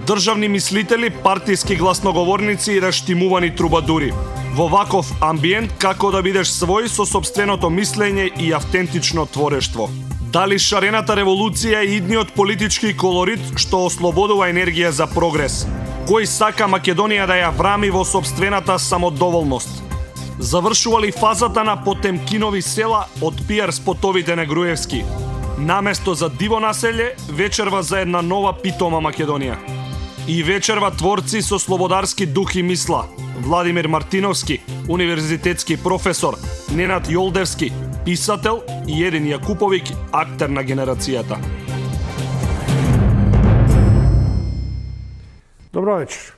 државни мислители, партиски гласноговорници и раштимувани трубадури. Во ваков амбиент како да бидеш свој со сопственото мислење и автентично творештво. Дали шарената револуција е идниот политички колорит што ослободува енергија за прогрес? Кој сака Македонија да ја врами во сопствената самодоволност? Завршува ли фазата на Потемкинови села од пиар спотовите на Груевски? Наместо за диво населје, вечерва за една нова питома Македонија. И вечерва творци со слободарски дух и мисла. Владимир Мартиновски, универзитетски професор, Ненад Јолдевски, писател и Един Јакуповиќ, актер на генерацијата. Добро вечер.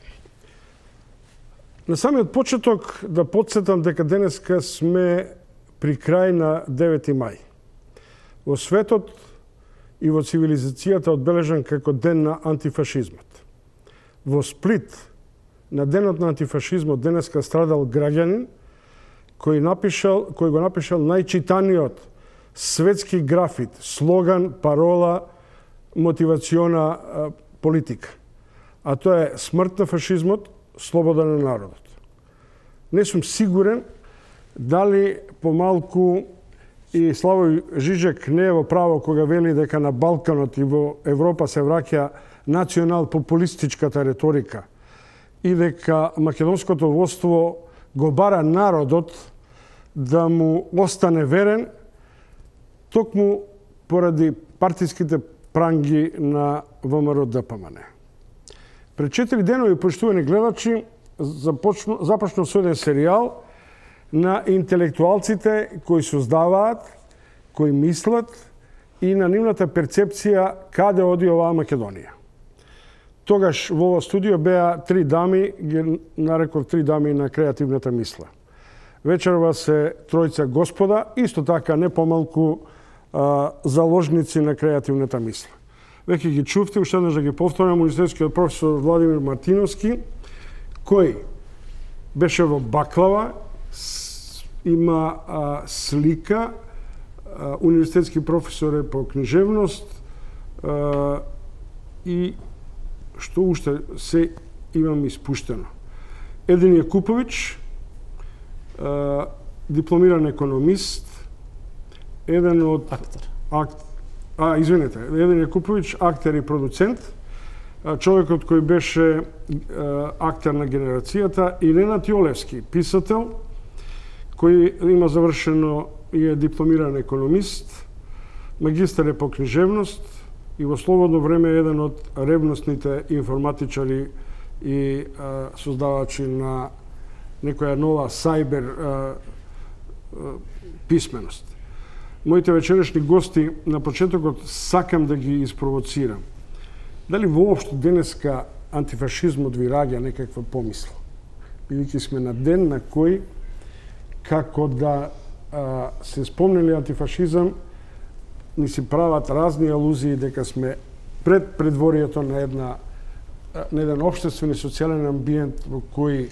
На самиот почеток да подсетам дека денеска сме при крај на 9 мај. Во светот и во цивилизацијата одбележан како ден на антифашизмот. Во Сплит, на денот на антифашизмот, денеска страдал граѓанин кој го напишал најчитаниот светски графит, слоган, парола, мотивациона политика. А тоа е смрт на фашизмот, слобода на народот. Не сум сигурен дали помалку и Славој Жиџек не е во право кога вели дека на Балканот и во Европа се враќа национал-популистичката реторика и дека македонското воство го бара народот да му остане верен токму поради партиските пранги на ВМРО-ДПМН. Пред 4 денови, поштувани гледачи, започнал со еден серијал на интелектуалците кои создаваат, кои мислат и на нивната перцепција каде оди оваа Македонија. Тогаш во ова студио беа 3 дами, ги нареков 3 дами на креативната мисла. Вечерва се тројца господа, исто така не помалку заложници на креативната мисла. Веќе ги чувте, уште еднаш да ги повторам, универзитетскиот професор Владимир Мартиновски, кој беше во баклава, има слика, универзитетски професор е по книжевност и што уште се имам испуштено. Един Јакуповиќ, дипломиран економист, еден од Един Јакуповиќ, актер и продуцент, човекот кој беше актер на генерацијата, и Ненад Јолдевски, писател, кој има завршено и е дипломиран економист, магистар е по книжевност и во слободно време е еден од ревностните информатичари и создавачи на некоја нова сајбер писменост. Моите вечерешни гости на почетокот сакам да ги испровоцирам. Дали воопшто денеска антифашизмот ви раѓа некаква помисла? Бидејќи сме на ден на кој, како да се спомнели антифашизам, ни си прават разни алузии дека сме пред предворието на еден општествен и социјален амбиент во кој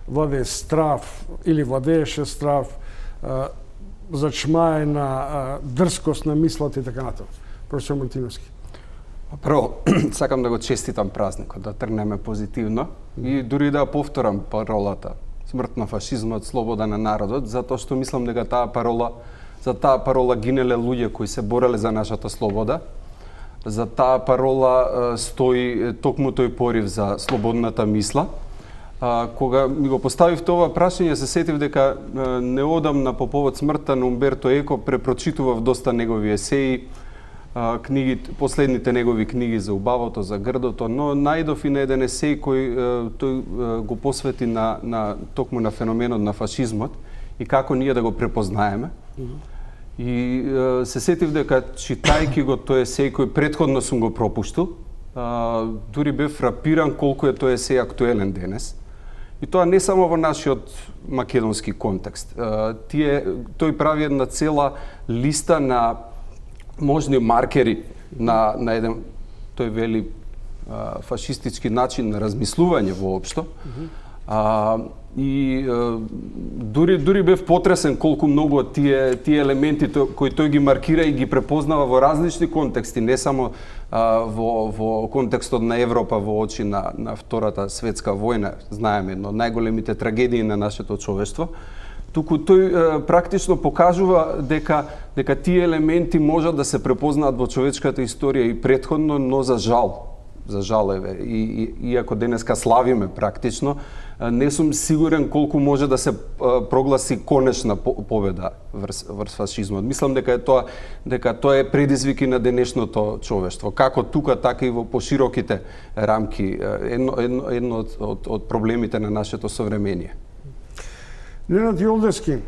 владее страв или владееше страв, зачмаена дрскост на мислата и така натаму. Професор Мартиновски. Прво, сакам да го честитам празникот, да тргнеме позитивно и дури да повторам паролата смрт на фашизмот, слобода на народот, затоа што мислам дека за таа парола гинеле луѓе кои се бореле за нашата слобода. За таа парола стои токму тој порив за слободната мисла. Кога ми го поставив тоа прашање, се сетив дека неодамна по повод смртта на Умберто Еко препрочитував доста негови есеи, последните негови книги за убавото, за грдото, но најдов и на еден есеј кој тој го посвети токму на феноменот на фашизмот и како ние да го препознаеме. И се сетив дека читајќи го тој есеј кој претходно сум го пропуштил, дури бев фрапиран колку е тој есеј актуелен денес. И тоа не само во нашиот македонски контекст. Тој прави една цела листа на можни маркери на еден, тој вели, фашистички начин на размислување воопшто. Дури бев потресен колку многу тие елементи кои тој ги маркира и ги препознава во различни контексти, не само во контекстот на Европа во очи на Втората светска војна, знаеме, едно од најголемите трагедии на нашето човештво, туку тој практично покажува дека тие елементи можат да се препознаат во човечката историја и претходно, но за жал еве, иако денеска славиме практично, не сум сигурен колку може да се прогласи конечна победа врз фашизмот. Мислам дека тоа е предизвик и на денешното човештво, како тука, така и во пошироките рамки, едно од проблемите на нашето современие. Ненад Јолдевски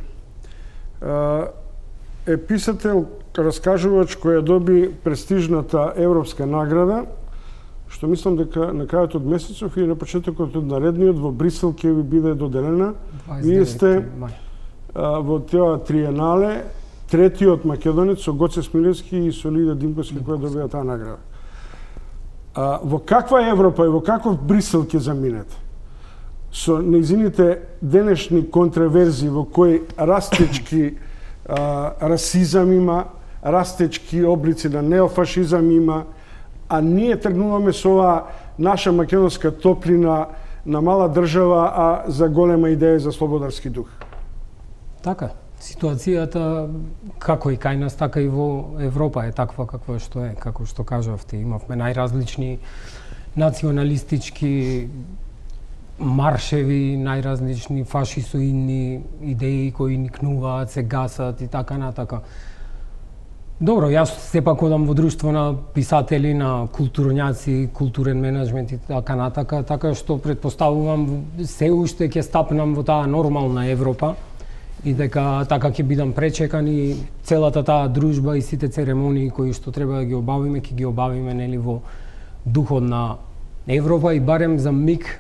е писател, раскажувач кој ја доби престижната европска награда, што мислам дека на крајот од месецов или на почетокот од наредниот во Брисел ќе ви биде доделена. Вие сте во тоа триенале третиот македонец со Гоце Смилевски и со Лида Димковски која добија таа награда. Во каква Европа и во каков Брисел ќе заминете? Со нејзините денешни контраверзии во кои растечки расизам има, растечки облици на неофашизам има, а ние тргнуваме со оваа наша македонска топлина на мала држава, а за голема идеја за слободарски дух. Така, ситуацијата како и кај нас, така и во Европа е таква каква што е, како што кажавте, имавме најразлични националистички маршеви, најразлични фашисоидни идеи кои никнуваат, се гасат и така натака. Добро, јас сепак одам во друштво на писатели, на културњаци, културен менеджмент и така натака, така што претпоставувам се уште ќе стапнам во таа нормална Европа и дека така ќе бидам пречекан и целата таа дружба и сите церемонии кои што треба да ги обавиме, ќе ги обавиме нели во духот на Европа и барем за миг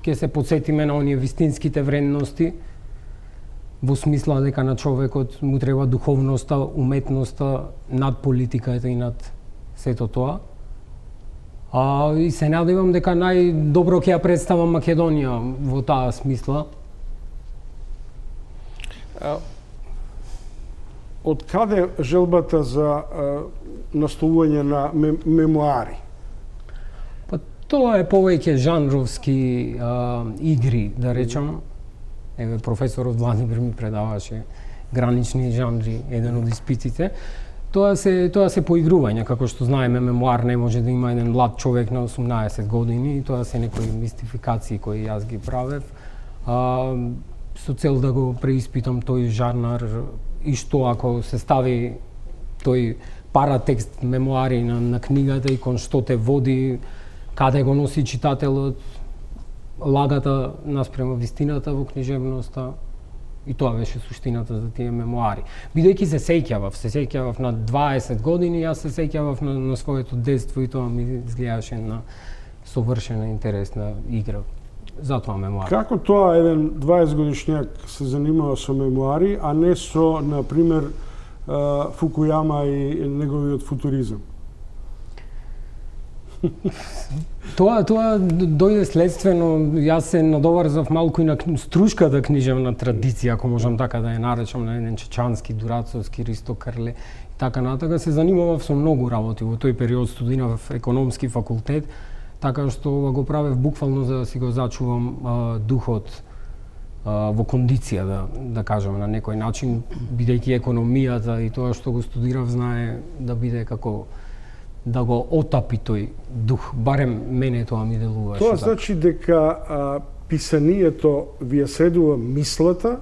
ќе се потсетиме на оние вистинските вредности во смисла дека на човекот му треба духовноста, уметноста над политиката и над сето тоа. И се надевам дека најдобро ќе ја представам Македонија во таа смисла. Од каде желбата за настолување на мемуари? Па тоа е повеќе жанровски игри, да речам. Еве, професорот Владимир ми предаваше гранични жанри, еден од испитите. Тоа се поигрување, како што знаеме, мемуар не може да има еден млад човек на 18 години, и тоа се некои мистификации кои јас ги правев, со цел да го преиспитам тој жанр и што ако се стави тој паратекст мемуари на книгата и кон што те води, каде го носи читателот, лагата наспрема вистината во книжевноста, и тоа беше суштината за тие мемуари. Бидејќи се сеќавав на 20 години, јас се сеќавав на своето детство и тоа ми изгледаше на совршена интересна игра. Затоа мемуари. Како тоа еден 20 годишњак се занимава со мемуари, а не со, например, Фукујама и неговиот футуризам? Тоа дојде следствено, јас се надоврзав малку и на струшката книжевна традиција, ако можам така да ја наречам, на еден Чечански, Дурацовски, Ристо Крле и така натака. Се занимавав со многу работи. Во тој период студирав економски факултет, така што го правев буквално за да си го зачувам духот во кондиција, да кажам на некој начин, бидејќи економијата и тоа што го студирав знае да биде како да го отапи тој дух, барем мене тоа ми делуваше. Тоа значи дека писанието ви ја средува мислата,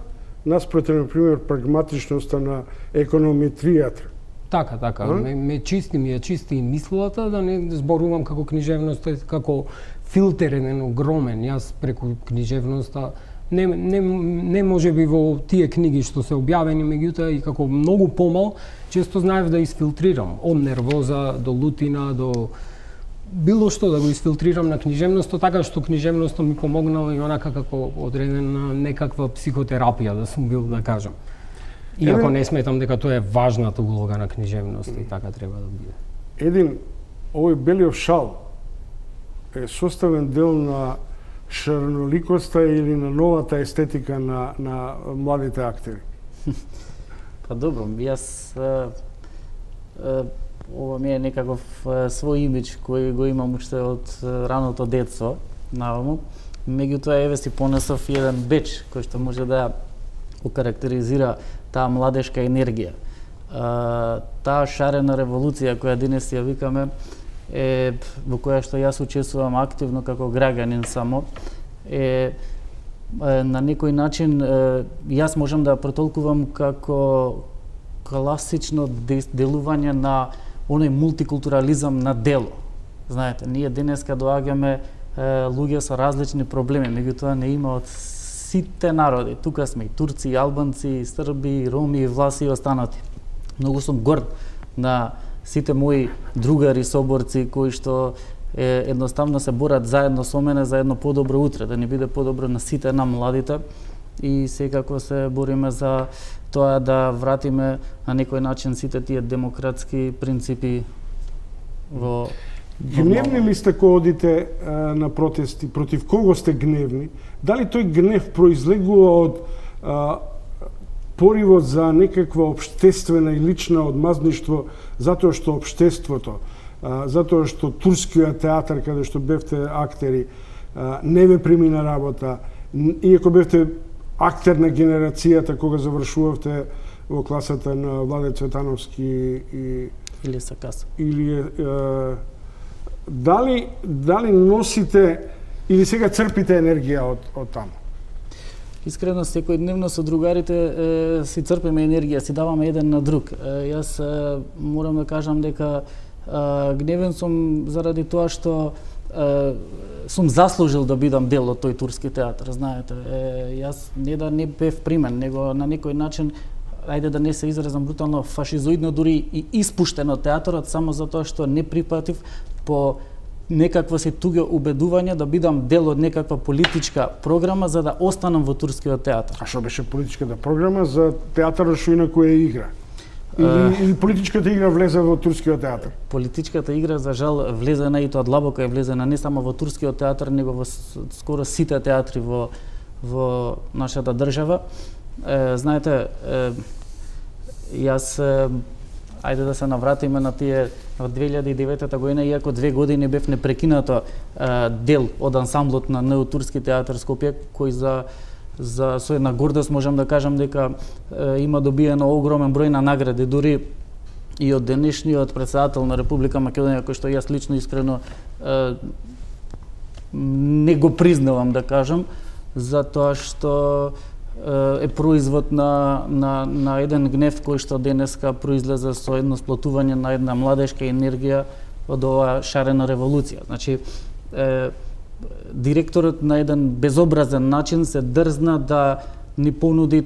наспроти, например, прагматичноста на економетријата. Така. Ме чисти мислата, да не зборувам како книжевноста, како филтер еден огромен. Јас преку книжевноста не може би во тие книги што се објавени, меѓутоа и како многу помал, често знаев да изфилтрирам од нервоза до лутина до било што да го изфилтрирам на книжевноста, така што книжевноста ми помогнала и онака како одредена некаква психотерапија да сум бил, да кажам. Иако не сметам дека тоа е важната улога на книжевноста и така треба да биде. Овој Белиов шал е составен дел на шарноликоста или на новата естетика на младите актери? Па добро, јас ова ми е некаков свој имидж кој го имам уште од раното детство наваму. Меѓутоа еве си понесов еден беч кој што може да окарактеризира таа младешка енергија. Таа шарена револуција која денес ја викаме е во која што јас учествувам активно како граѓанин само е на некој начин јас можам да протолкувам како класично делување на оној мултикултурализам на дело. Знаете, ние денеска доаѓаме луѓе со различни проблеми, меѓутоа не има од сите народи. Тука сме и турци, и албанци, и срби, и роми, и власи и останати. Многу сум горд на сите мои другари, соборци кои што едноставно се борат заедно со мене за едно подобро утре, да ни биде подобро на сите нам младите и секако се бориме за тоа да вратиме на некој начин сите тие демократски принципи во Гневни ли сте кога одите на протести? Против кого сте гневни? Дали тој гнев произлегува од поривот за некаква општествена и лична одмазништво затоа што општеството, затоа што турскиот театар каде што бевте актери не ве примина работа, иако бевте актер на генерацијата кога завршувавте во класата на Владе Цветановски и или Сакас. Или дали носите или сега црпите енергија од таму? Искрено, секојдневно со другарите си црпиме енергија, си даваме еден на друг. Јас морам да кажам дека гневен сум заради тоа што сум заслужил да бидам дел од тој турски театар, знаете. Јас не да не бев примен, него на некој начин, ајде да не се изразам брутално, фашизоидно дури и испуштен од театарот само затоа што не припатив по некакво си туѓо убедување да бидам дел од некаква политичка програма за да останам во турскиот театар. А што беше политичката програма за театарот што инаку е игра? Или политичката игра влезе во турскиот театар? Политичката игра, за жал, влезена и тоа длабоко е влезена не само во турскиот театар, него во скоро сите театри во нашата држава. Знаете, јас ајде да се навратиме на тие од 2009 година, иако 2 години бев непрекинато дел од ансамблот на НУ Турски театар Скопје, кој за со една гордост можам да кажам дека има добиено огромен број на награди, дури и од денешниот претседател на Република Македонија, кој што јас лично искрено не го признавам, да кажам, затоа што е производ на еден гнев кој што денеска произлезе со едно сплотување на една младешка енергија од оваа шарена револуција. Значи, директорот на еден безобразен начин се дрзна да ни понуди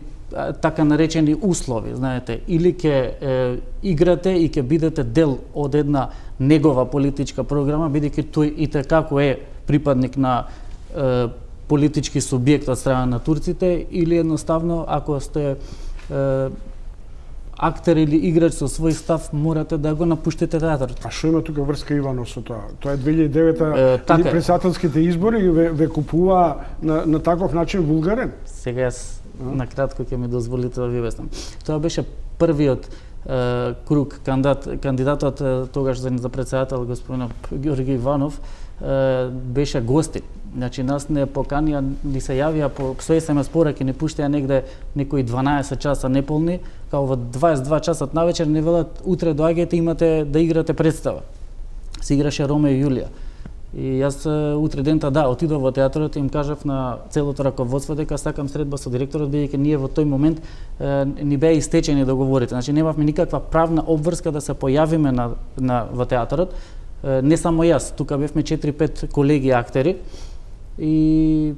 така наречени услови, знаете, или ќе играте и ќе бидете дел од една негова политичка програма, бидејќи тој и како е припадник на политички субјект од страна на турците, или едноставно, ако сте актер или играч со свој став, морате да го напуштите театарот. А што има тука врска Иванов со тоа? Тоа е 2009 председателските избори ве купува на таков начин вулгарен? Сега јас на кратко ќе ми дозволите да ви обяснам. Тоа беше првиот круг кандидатот тогаш за председател господин Георги Иванов беше гостин. Значи нас не поканија, ни се јавија по SMS пораки, не пуштија негде некои 12 часа неполни, као во 22 часот навечер не велат утре доаѓајте, имате да играте представа. Се играше Ромео и Јулија. И јас утре дента отидов во театарот и им кажав на целото раководство дека сакам средба со директорот, бидејќи ние во тој момент ни беа истечени договорите. Значи немавме никаква правна обврска да се појавиме во театарот. Не само јас, тука бевме 4-5 колеги актери и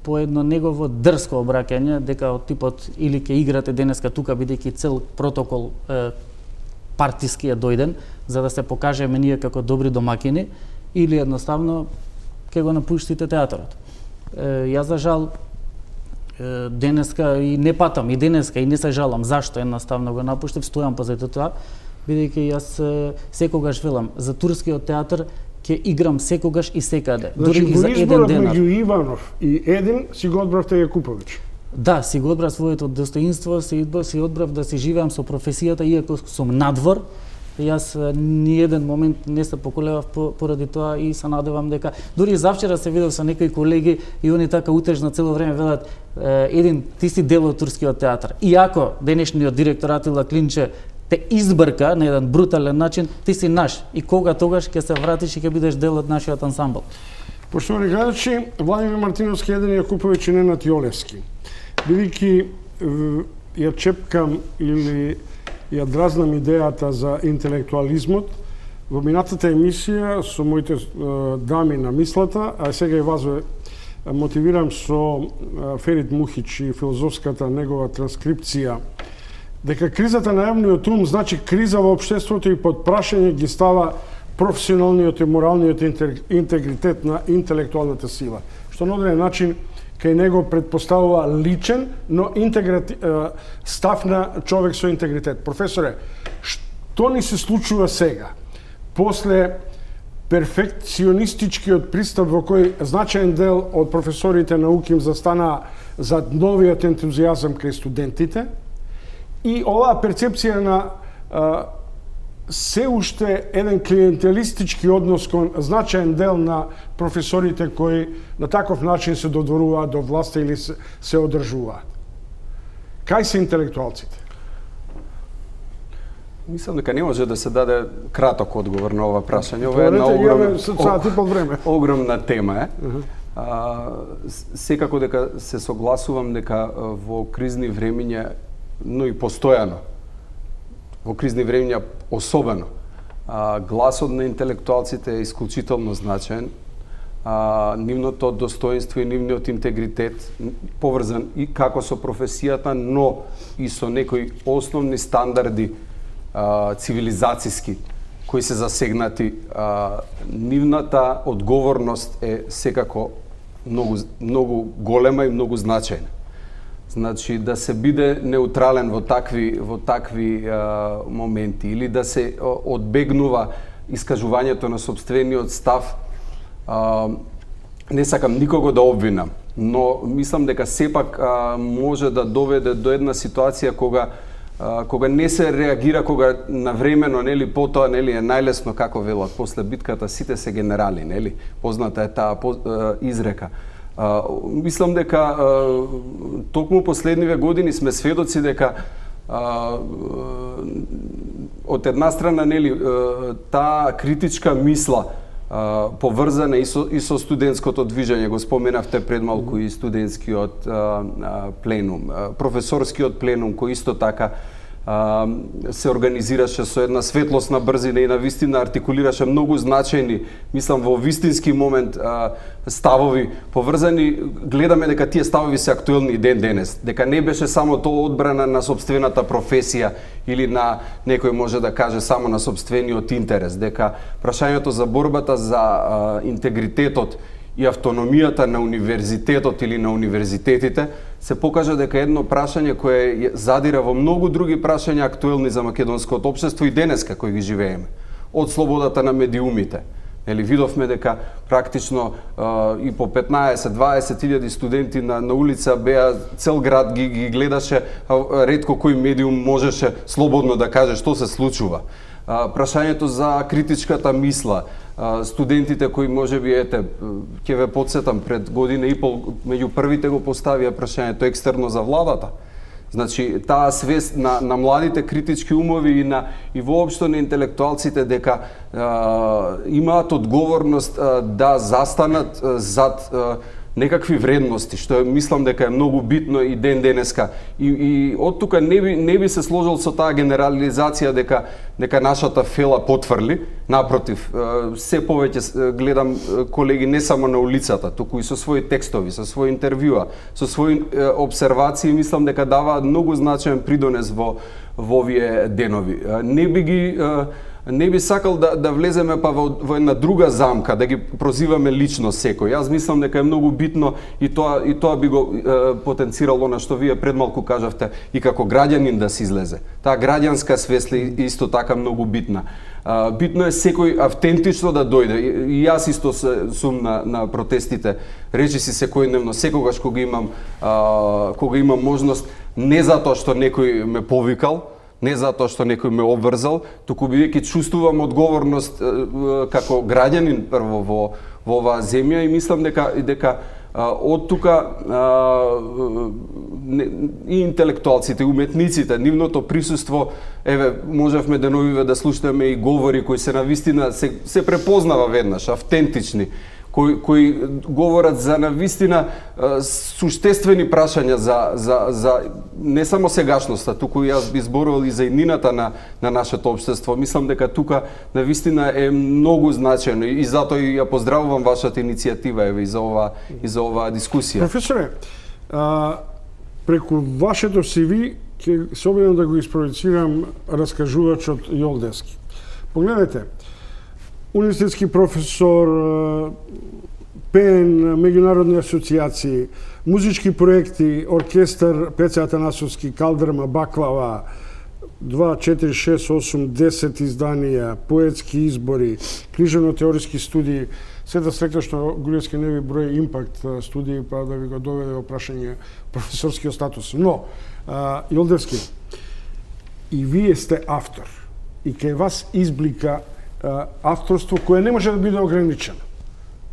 по едно негово дрско обраќање дека од типот или ќе играте денеска тука бидејќи цел протокол партиски е дојден за да се покажеме ние како добри домакини, или едноставно ќе го напуштите театарот. Јас за жал денеска и не патам и денеска и не се жалам зашто едноставно го напуштив, стојам позади тоа, бидејќи јас секогаш велам за турскиот театар ќе играм секогаш и секаде, Значи, дури и за во 1 изборот денар. меѓу Иванов и Един си го одбравте Јакуповиќ. Да, си го одбрав своето достоинство, си одбрав да се живеам со професијата, иако сум надвор. Јас ни еден момент не се поколевав поради тоа и се надевам дека дури завчера се видов со некои колеги и они така утежно цело време велат Един, ти си дел од турскиот театар. Иако денешниот директор Атила Клинче те избрка на еден брутален начин, ти си наш и кога тогаш ќе се вратиш и ќе бидеш дел од нашиот ансамбл. Поштовани гледачи, Владимир Мартиновски, Един Јакуповиќ и Ненад Јолевски. Бидејќи ја чепкам или ја дразнам идејата за интелектуализмот, во минатата емисија со моите дами на мислата, а сега и вас мотивирам со Ферит Мухич и филозофската негова транскрипција, дека кризата на јавниот ум значи криза во општеството и под прашање ги става професионалниот и моралниот интегритет на интелектуалната сила, што на одреден начин кај него предпоставува личен, но став на човек со интегритет. Професоре, што ни се случува сега? После перфекционистичкиот пристап во кој значаен дел од професорите науки им застанаа за новиот ентузијазам кај студентите и оваа перцепција на се уште еден клиентелистички однос кон значаен дел на професорите кои на таков начин се додворуваат до власта или се одржуваат. Кај се интелектуалците? Мислам дека не може да се даде краток одговор на ова прашање. Ова е една огромна тема. Секако дека се согласувам дека во кризни времиња, но и постојано, во кризни времиња особено, гласот на интелектуалците е исклучително значаен. Нивното достоинство и нивниот интегритет поврзан и како со професијата, но и со некои основни стандарди цивилизацијски кои се засегнати. Нивната одговорност е секако многу голема и многу значајна. Значи да се биде неутрален во такви моменти или да се одбегнува искажувањето на сопствениот став. Не сакам никого да обвинам, но мислам дека сепак може да доведе до една ситуација кога не се реагира, кога навремено, нели, потоа, нели, е најлесно, како велат, после битката сите се генерали, нели? Позната е таа изрека. Мислам дека токму последниве години сме сведоци дека од една страна, нели, таа критичка мисла поврзана и со студентското движење, го споменавте пред малку и студентскиот пленум, професорскиот пленум кој исто така се организираше со една светлосна брзина и навистина артикулираше многу значајни, мислам во вистински момент, ставови поврзани. Гледаме дека тие ставови се актуелни и ден денес, дека не беше само тоа одбрана на сопствената професија или на некој може да каже само на сопствениот интерес, дека прашањето за борбата за интегритетот и автономијата на универзитетот или на универзитетите се покажа дека едно прашање кое задира во многу други прашања актуелни за македонското општество и денеска кои ги живееме. Од слободата на медиумите. Нели, видовме дека практично и по 15-20 илјади студенти на улица беа, цел град ги гледаше, ретко кој медиум можеше слободно да каже што се случува. Прашањето за критичката мисла, студентите кои можеби, ќе ве подсетам, пред година и пол меѓу првите го поставија прашањето екстерно за владата. Значи, таа свест на младите критички умови и воопшто на интелектуалците дека имаат одговорност да застанат зад некакви вредности, што мислам дека е многу битно и ден денеска. И од тука не би се сложил со таа генерализација дека нашата фела потврли. Напротив, се повеќе гледам колеги не само на улицата, туку и со своји текстови, со своји интервјуа, со своји обсервации, мислам дека даваат многу значаен придонес во овие денови. Не би сакал да влеземе па во една друга замка, да ги прозиваме лично секој. Јас мислам дека е многу битно и тоа би го потенцирало на што вие пред малку кажавте и како граѓанин да се излезе. Таа граѓанска свест е исто така многу битна. Битно е секој автентично да дојде. И јас исто сум на протестите. Речи си секојдневно, секогаш кога имам можност, не затоа што некој ме повикал, не затоа што некој ме обврзал, туку бидејќи чувствувам одговорност како граѓанин прво во оваа земја и мислам дека од тука и интелектуалците, и уметниците, нивното присуство, можевме деновиве да слушнеме и говори кои се навистина се препознава веднаш, автентични, кои говорат за навистина суштествени прашања за не само сегашноста, туку јас би зборувал и за иднината на нашето општество. Мислам дека тука навистина е многу значено и затоа ја поздравувам вашата иницијатива и за оваа дискусија. Професоре, преку вашето CV ќе се обидам да го испровицирам раскажувачот Јолдевски. Погледнете, универзитетски професор, пеен, меѓународни асоциации, музички проекти, оркестар Пеце Атанасовски, Калдрма, Баклава, 2, 4, 6, 8, 10 изданија, поетски избори, книжевно-теориски студии. Се да срекна што Груевски не ви брои импакт студии, па да ви го доведе во прашање професорскиот статус. Но, Јолдевски, и вие сте автор. И кај вас изблика авторство кое не може да биде ограничено.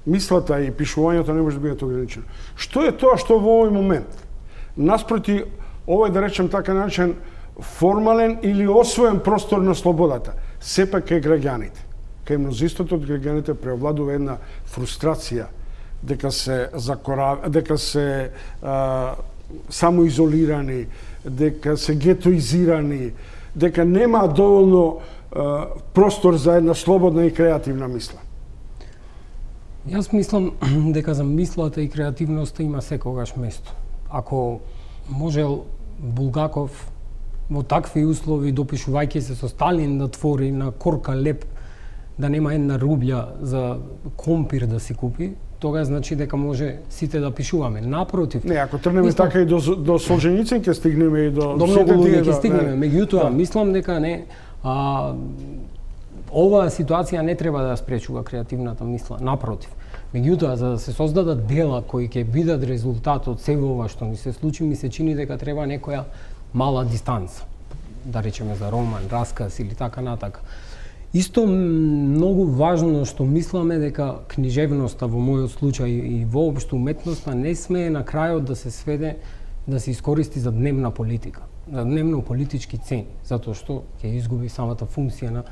Мислата и пишувањето не може да бидат ограничено. Што е тоа што во овој момент, наспроти овој, да речем така наречен, формален или освоен простор на слободата, сепак кај граѓаните, кај мнозинството од граѓаните преовладува една фрустрација дека се самоизолирани, дека се гетоизирани, дека нема доволно простор за една слободна и креативна мисла. Јас мислам дека за мислата и креативноста има секогаш место. Ако можел Булгаков во такви услови, допишувајќи се со Сталин, да твори на корка леп, да нема една рубља за компир да си купи, тога значи дека може сите да пишуваме. Напротив. Не, ако тргнеме така и до Солженицин ќе стигнеме и до многу луѓе ќе стигнеме. Меѓутоа, мислам дека оваа ситуација не треба да спречува креативната мисла, напротив. Меѓутоа, за да се создадат дела кои ќе бидат резултат од сето ова што ни се случи, ми се чини дека треба некоја мала дистанца. Да речеме за роман, расказ или така натака. Исто многу важно што мисламе дека книжевноста во мојот случај и воопшто уметноста не смее на крајот да се сведе да се искористи за дневна политика, за дневно политички цени, затоа што ќе изгуби самата функција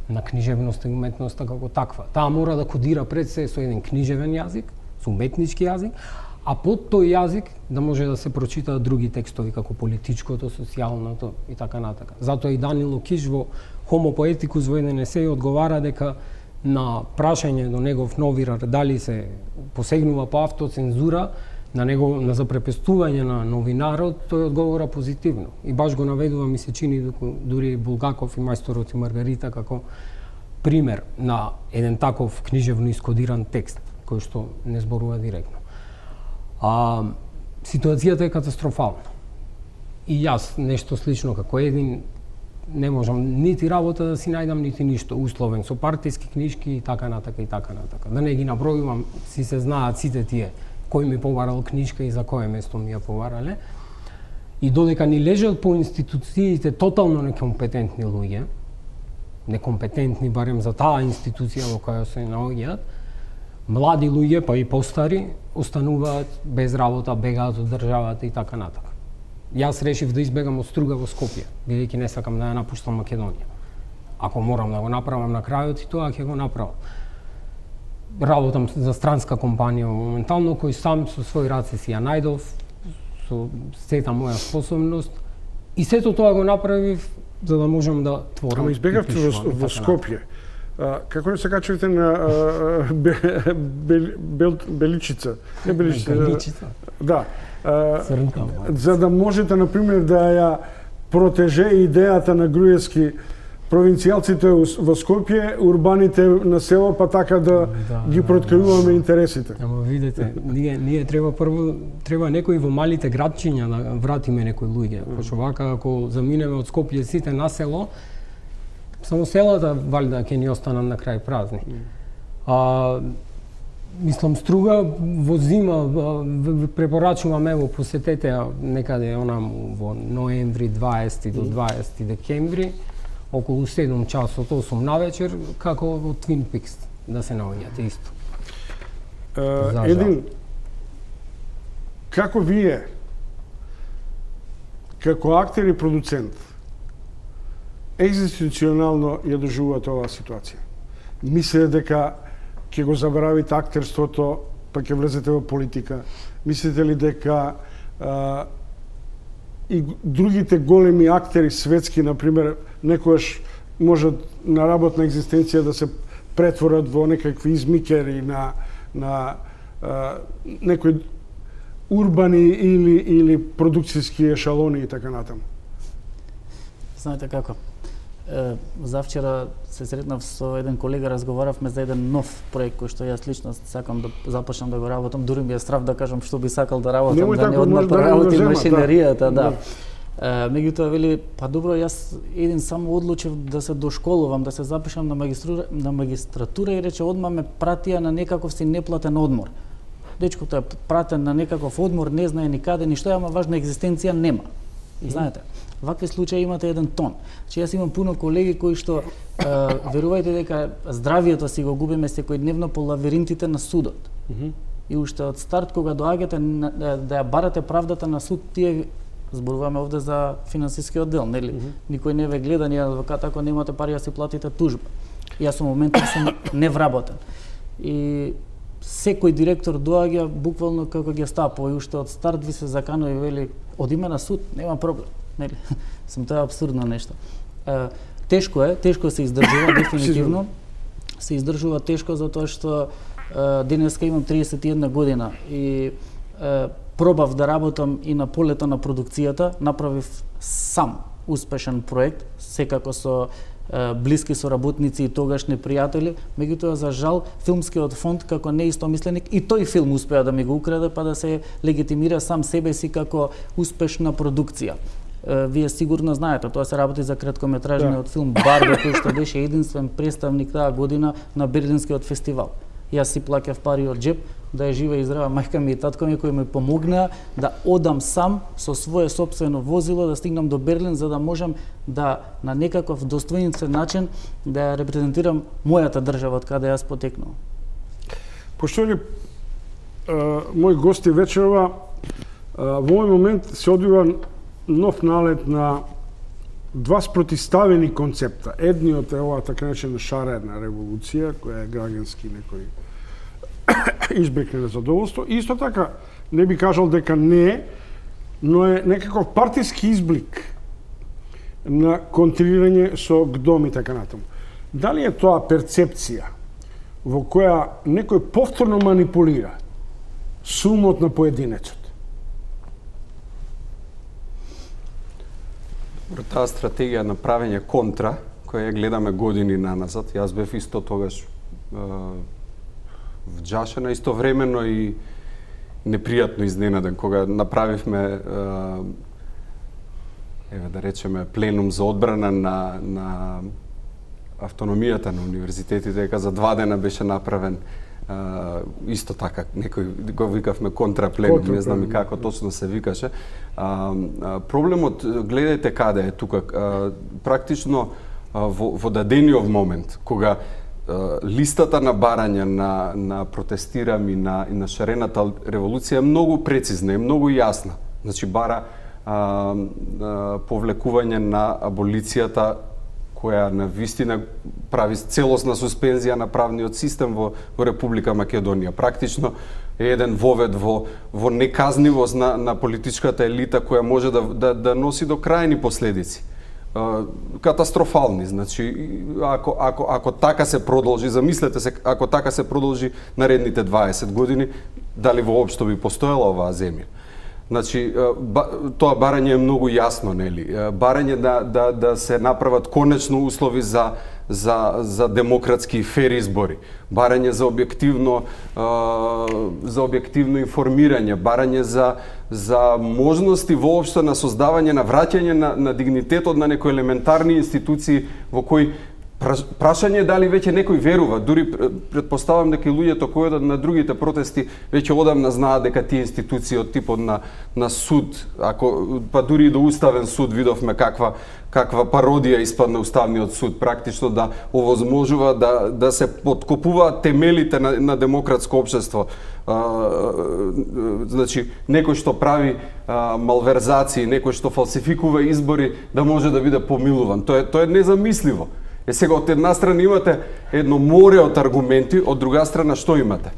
на книжевноста и уметноста како таква. Таа мора да кодира пред се со еден книжевен јазик, со уметнички јазик, а под тој јазик да може да се прочитаат други текстови како политичкото, социјалното и така натака. Затоа и Данило Киш во Homo Poeticus во еден есеј одговара дека на прашање до негов новирар дали се посегнува по автоцензура, на запрепестување на новинарот, тој одговора позитивно. И баш го наведува, ми се чини, дури Булгаков и Мајсторот и Маргарита како пример на еден таков книжевно искодиран текст, кој што не зборува директно. Ситуацијата е катастрофална. И јас нешто слично како един не можам нити работа да си најдам, нити ништо, условен со партиски книжки и така натака и така натака. Да не ги набројувам, си се знаат сите тие кој ми побарал книжка и за кое место ми ја побарале. И додека ни лежат по институциите тотално некомпетентни луѓе, некомпетентни барем за таа институција во која се наоѓаат, млади луѓе, па и постари, остануваат без работа, бегаат од државата и така натака. Јас решив да избегам од Струга во Скопје, бидејќи не сакам да ја напуштам Македонија. Ако морам да го направам на крајот и тоа ќе го направам. Работам за странска компанија моментално, кој сам со свој раце си ја најдов, со сета моја способност, и сето тоа го направив за да можам да творам. Ама избегавте во Скопје. Како не се качувате на Беличица? Не Беличица. Да. За да можете, например, да ја протеже идејата на Груевски, провинцијалците во Скопје, урбаните на село, па така да ги проткриваме интересите. Ама видите, ние треба некои во малите градчиња да вратиме некои луѓе. Пошто вака, ако заминеме од Скопје сите на село, Само селата валјда ќе ни останат на крај празни. Мислам, Струга во зима препорачувам, ево, посетете некаде онаму во ноември 20 до 20 декември, околу 7 часот, 8 навечер, како во Twin Peaks да се наоѓате исто. Един, како вие, како актер и продуцент, екзистенцијално ја доживувате оваа ситуација? Мислите дека ќе го забравите актерството, па ќе влезете во политика? Мислите ли дека и другите големи актери светски, например, некојаш можат на работна екзистенција да се претворат во некакви измикери на некои урбани или продукцијски ешалони и така натаму? Знаете како? Завчера се сретнав со еден колега, разговаравме за еден нов проект кој што јас лично сакам да започнам да го работам, дури ми е страв да кажам што би сакал да работам, да не одма поработи машинеријата, да. Меѓутоа вели, па добро, јас еден само одлучив да се дошколувам, да се запишам на магистратура и рече одма ме пратија на некаков си неплатен одмор. Дечкото е пратен на некаков одмор, не знае никаде ништо, ама важна екзистенција нема. Знаете, вакви случаи имате еден тон. Че јас имам пуно колеги кои што верувајте дека здравието си го губиме секојдневно по лавиринтите на судот. И уште од старт кога доаѓате да ја барате правдата на суд, тие зборуваме овде за финансиски оддел, нели? Никој не ве гледа, ни адвокат, ако немате пари да си платите тужба. Јас во моментот сум невработен. И секој директор доаѓа буквално како ги стапува и уште од старт ви се заканува и вели одиме на суд, нема проблем. Нели? Сум тоа апсурдно нешто. Тешко се издржува дефинитивно. Се издржува тешко затоа што денеска имам 31 година и пробав да работам и на полето на продукцијата, направив сам успешен проект, секако со блиски соработници и тогашни пријатели, меѓутоа за жал филмскиот фонд како неистомисленик и тој филм успеа да ми го украде па да се легитимира сам себе си како успешна продукција. Вие сигурно знаете, тоа се работи за краткометражниот филм Барби, кој што беше единствен представник таа година на Берлинскиот фестивал. Јас си плаќав пари од джеб, да е жива и здрава мајка ми и татко ми кои ми помогнаа да одам сам со свое сопствено возило да стигнам до Берлин за да можам да на некаков достоинствен начин да ја репрезентирам мојата држава од каде јас потекнувам. Поштовани мои гости вечерова, во овој момент се одвива нов налет на два спротиставени концепта. Едниот е оваа така наречена шарена револуција, која е граѓански некој избрик на задоволство. Исто така, не би кажал дека не е, но е некаков партиски изблик на контрирање со ГДОМ и така натаму. Дали е тоа перцепција во која некој повторно манипулира сумот на поединецот? Таа стратегија на правење контра, која ја гледаме години наназад, јас бев исто тогаш вџашена, истовремено и непријатно изненаден кога направивме еве да речеме пленум за одбрана на автономијата на универзитетите, дека за 2 дена беше направен исто така, некој го викавме контрапленум, не знам и како точно се викаше. Проблемот, гледајте каде е тука, практично во дадениот момент, кога листата на барање на протестирам и на шарената револуција е многу прецизна, е многу јасна. Значи бара повлекување на аболицијата која на вистина прави целосна суспензија на правниот систем во Република Македонија. Практично е еден вовед во неказнивост на политичката елита која може да носи до крајни последици. Катастрофални, значи ако така се продолжи, замислете се, ако така се продолжи наредните 20 години, дали воопшто би постоела оваа земја? Значи, тоа барање е многу јасно, нели? Барање да се направат конечно услови за демократски и фер избори, барање за објективно информирање, барање за можности воопшто на создавање, на враќање на дигнитетот на некои елементарни институции во кои Прашање е дали веќе некој верува, дури претпоставам дека и луѓето кои одат на другите протести веќе одамна знаат дека тие институции од типот на суд, па дури и до уставен суд видовме каква пародија испадна уставниот суд, практично да овозможува да се подкопуваат темелите на демократско општество. Значи, некој што прави малверзации, некој што фалсификува избори, да може да биде помилуван. Тоа е незамисливо. Сега од една страна имате едно море од аргументи, од друга страна што имате?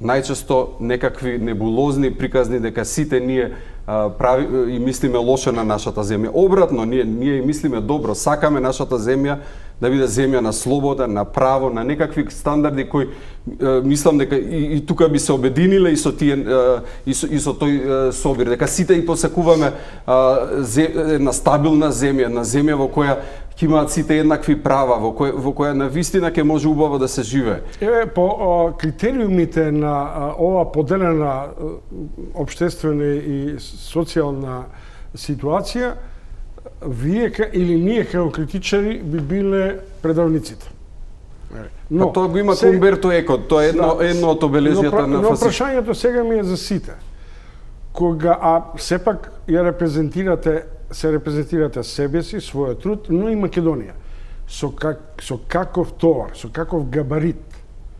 Најчесто некакви небулозни приказни дека сите ние прави и мислиме лошо на нашата земја. Обратно, ние мислиме добро, сакаме нашата земја да биде земја на слобода, на право, на некакви стандарди кои мислам дека и тука би се обединиле и со тие и со тој собир, дека сите и посакуваме една стабилна земја, на земја во која ќе имаат сите еднакви права, во која навистина ќе може убаво да се живее. По критериумите на ова поделена општествена и социјална ситуација, вие или ние како критичари би биле предавниците. Но тоа го има Умберто Еко, тоа е едно од обележјата на фасизмот. Но прашањето сега ми е за сите. Кога сепак се репрезентирате себе си, својот труд, но и Македонија. Со каков товар, со каков габарит.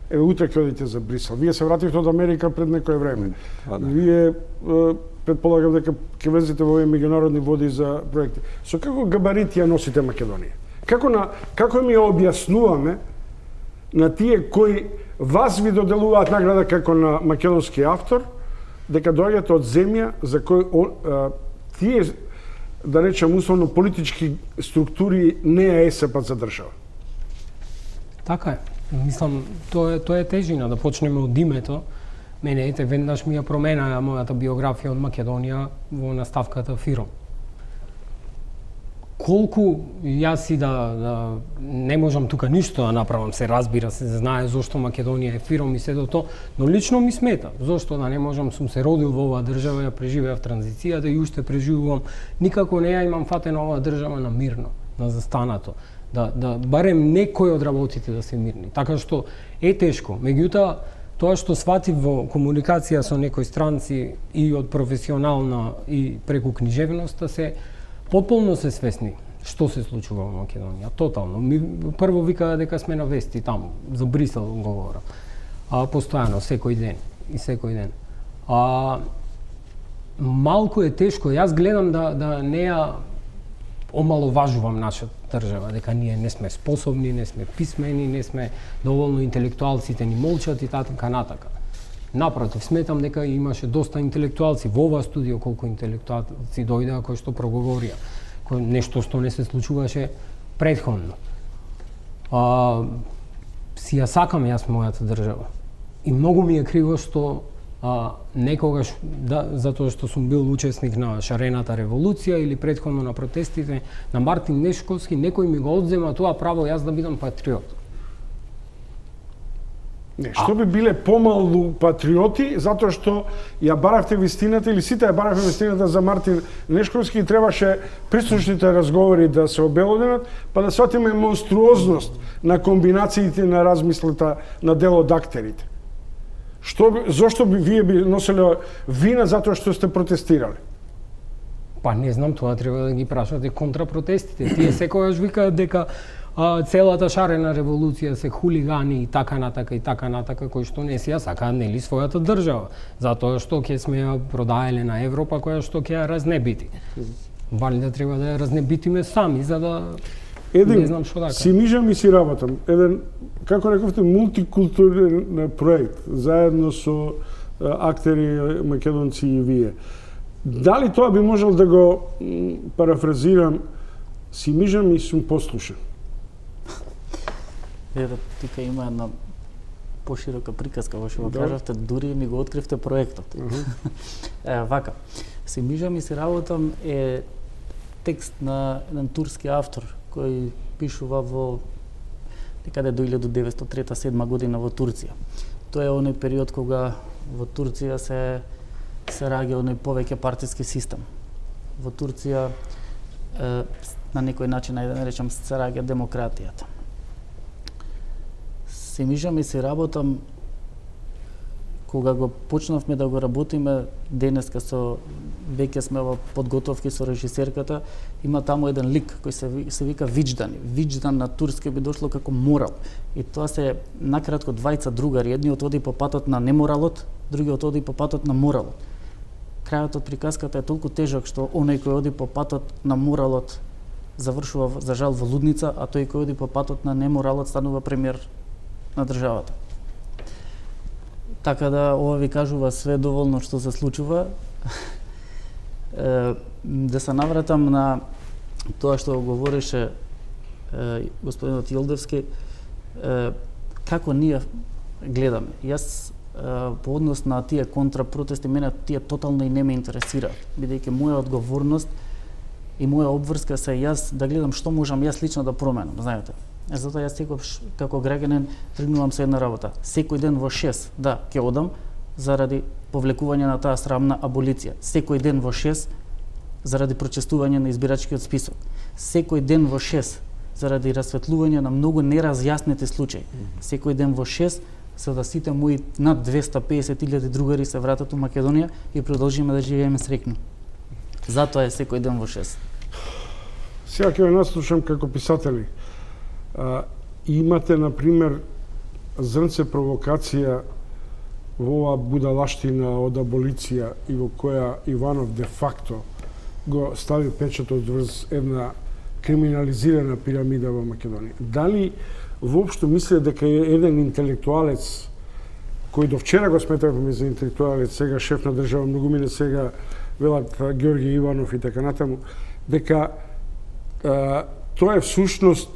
Еве утре ќе одите за Брисел. Вие се вративте од Америка пред некое време. Вие предполагам дека ќе влезете во овие меѓународни води за проекти. Со каков габарит ја носите Македонија? Како ми ја објаснуваме на тие кои вас ви доделуваат награда како на македонски автор, дека доаѓате од земја за кој тие, да речем условно, политички структури не ја есепат за држава? Така е. Мислам, тоа е тежина, да почнеме од името. Мене, веднаш ми ја променаа мојата биографија од Македонија во наставката Фиром. Колку јас и да не можам тука ништо да направам, се разбира, се знае зошто Македонија е Фиром и се до тоа, но лично ми смета. Зошто да не можам, сум се родил во оваа држава, ја преживеав транзицијата и уште преживувам, никако не ја имам фатена оваа држава на мирно, на застанато. Да барем некој од работите да се мирни. Така што е тешко. Меѓутоа, тоа што сватив во комуникација со некои странци и од професионална и преку книжевноста, се потполно се свесни што се случува во Македонија. Тотално. Прво викаа дека сме на вести таму, за Брисел говорам. Постојано, секој ден. Малку е тешко. Јас гледам да не ја омаловажувам нашата држава, дека ние не сме способни, не сме писмени, не сме доволно интелектуалците ни молчат и така натака. Напротив, сметам дека имаше доста интелектуалци во оваа студио, колку интелектуалци дојдеа кои што проговорија, нешто што не се случуваше претходно. Си ја сакам јас мојата држава. И многу ми е криво што некогаш, затоа што сум бил учесник на шарената револуција или претходно на протестите на Мартин Нешковски, некој ми го одзема тоа право јас да бидам патриот. Не, што би биле помалу патриоти, затоа што ја баравте вистината, или сите ја баравте вистината за Мартин Нешковски и требаше присушните разговори да се обелоденат, па да сватиме монструозност на комбинациите на размислата на дел од актерите. Зошто вие би носеле вина затоа што сте протестирали? Па не знам, тоа треба да ги прашате контрапротестите. Тие секогаш викаат дека целата шарена револуција се хулигани и така натака, кои што не си ја сакаат нели својата држава, затоа што ќе сме ја продаеле на Европа, која што ќе ја разнебити. Валјда треба да ја разнебитиме сами, за да не знам што да кажам. Си мижам и си работам. Еден, како рековте, мултикултурен проект, заедно со актери македонци и вие. Дали тоа би можел да го парафразирам, си мижам и сум послушен? Тука има една поширока приказка во што го кажавте, дури ми го откривте проектот. Вака, си мижам и си работам е текст на еден турски автор кој пишува во некаде до 1903-1907 година во Турција. Тоа е оној период кога во Турција се раѓа оној повеќе партиски систем. Во Турција на некој начин, да речам, сцараѓа демократијата. Се мижам и се работам, кога го почнавме да го работиме, денеска веќе сме во подготовки со режисерката, има таму еден лик кој се вика Виџдан. Виџдан на турски би дошло како морал. И тоа се накратко двајца другари, едниот оди по патот на неморалот, другиот оди по патот на моралот. Крајот од приказката е толку тежок што оној кој оди по патот на моралот завршува за жал во лудница, а тој кој оди по патот на неморалот станува премиер на државата. Така да ова ви кажува све доволно што се случува. Да се навратам на тоа што говореше господинот Јелдевски, како ние гледаме. Јас по однос на тие контрапротести, мене тие тотално и не ме интересира, бидејќи моја одговорност и моја обврска се јас да гледам што можам јас лично да променам, знаете. Затоа јас секогаш како граѓанин тргнувам со една работа. Секој ден во 6, да, ќе одам заради повлекување на таа срамна аболиција. Секој ден во 6 заради прочестување на избирачкиот список. Секој ден во 6 заради расветлување на многу неразјаснети случаи. Секој ден во 6 за да сите мои над 250.000 другари се вратат у Македонија и продолжиме да живееме среќно. Затоа е секој ден во 6. Сега ќе ве наслушам како писатели. Имате, например, зрнце провокација во оваа будалаштина од аболиција и во која Иванов де факто го стави печатот врз една криминализирана пирамида во Македонија. Дали воопшто мисле дека е еден интелектуалец кој до вчера го сметавме за интелектуалец, сега шеф на држава, многу мине сега велат Ѓорѓе Иванов и така натаму, дека тоа е всушност,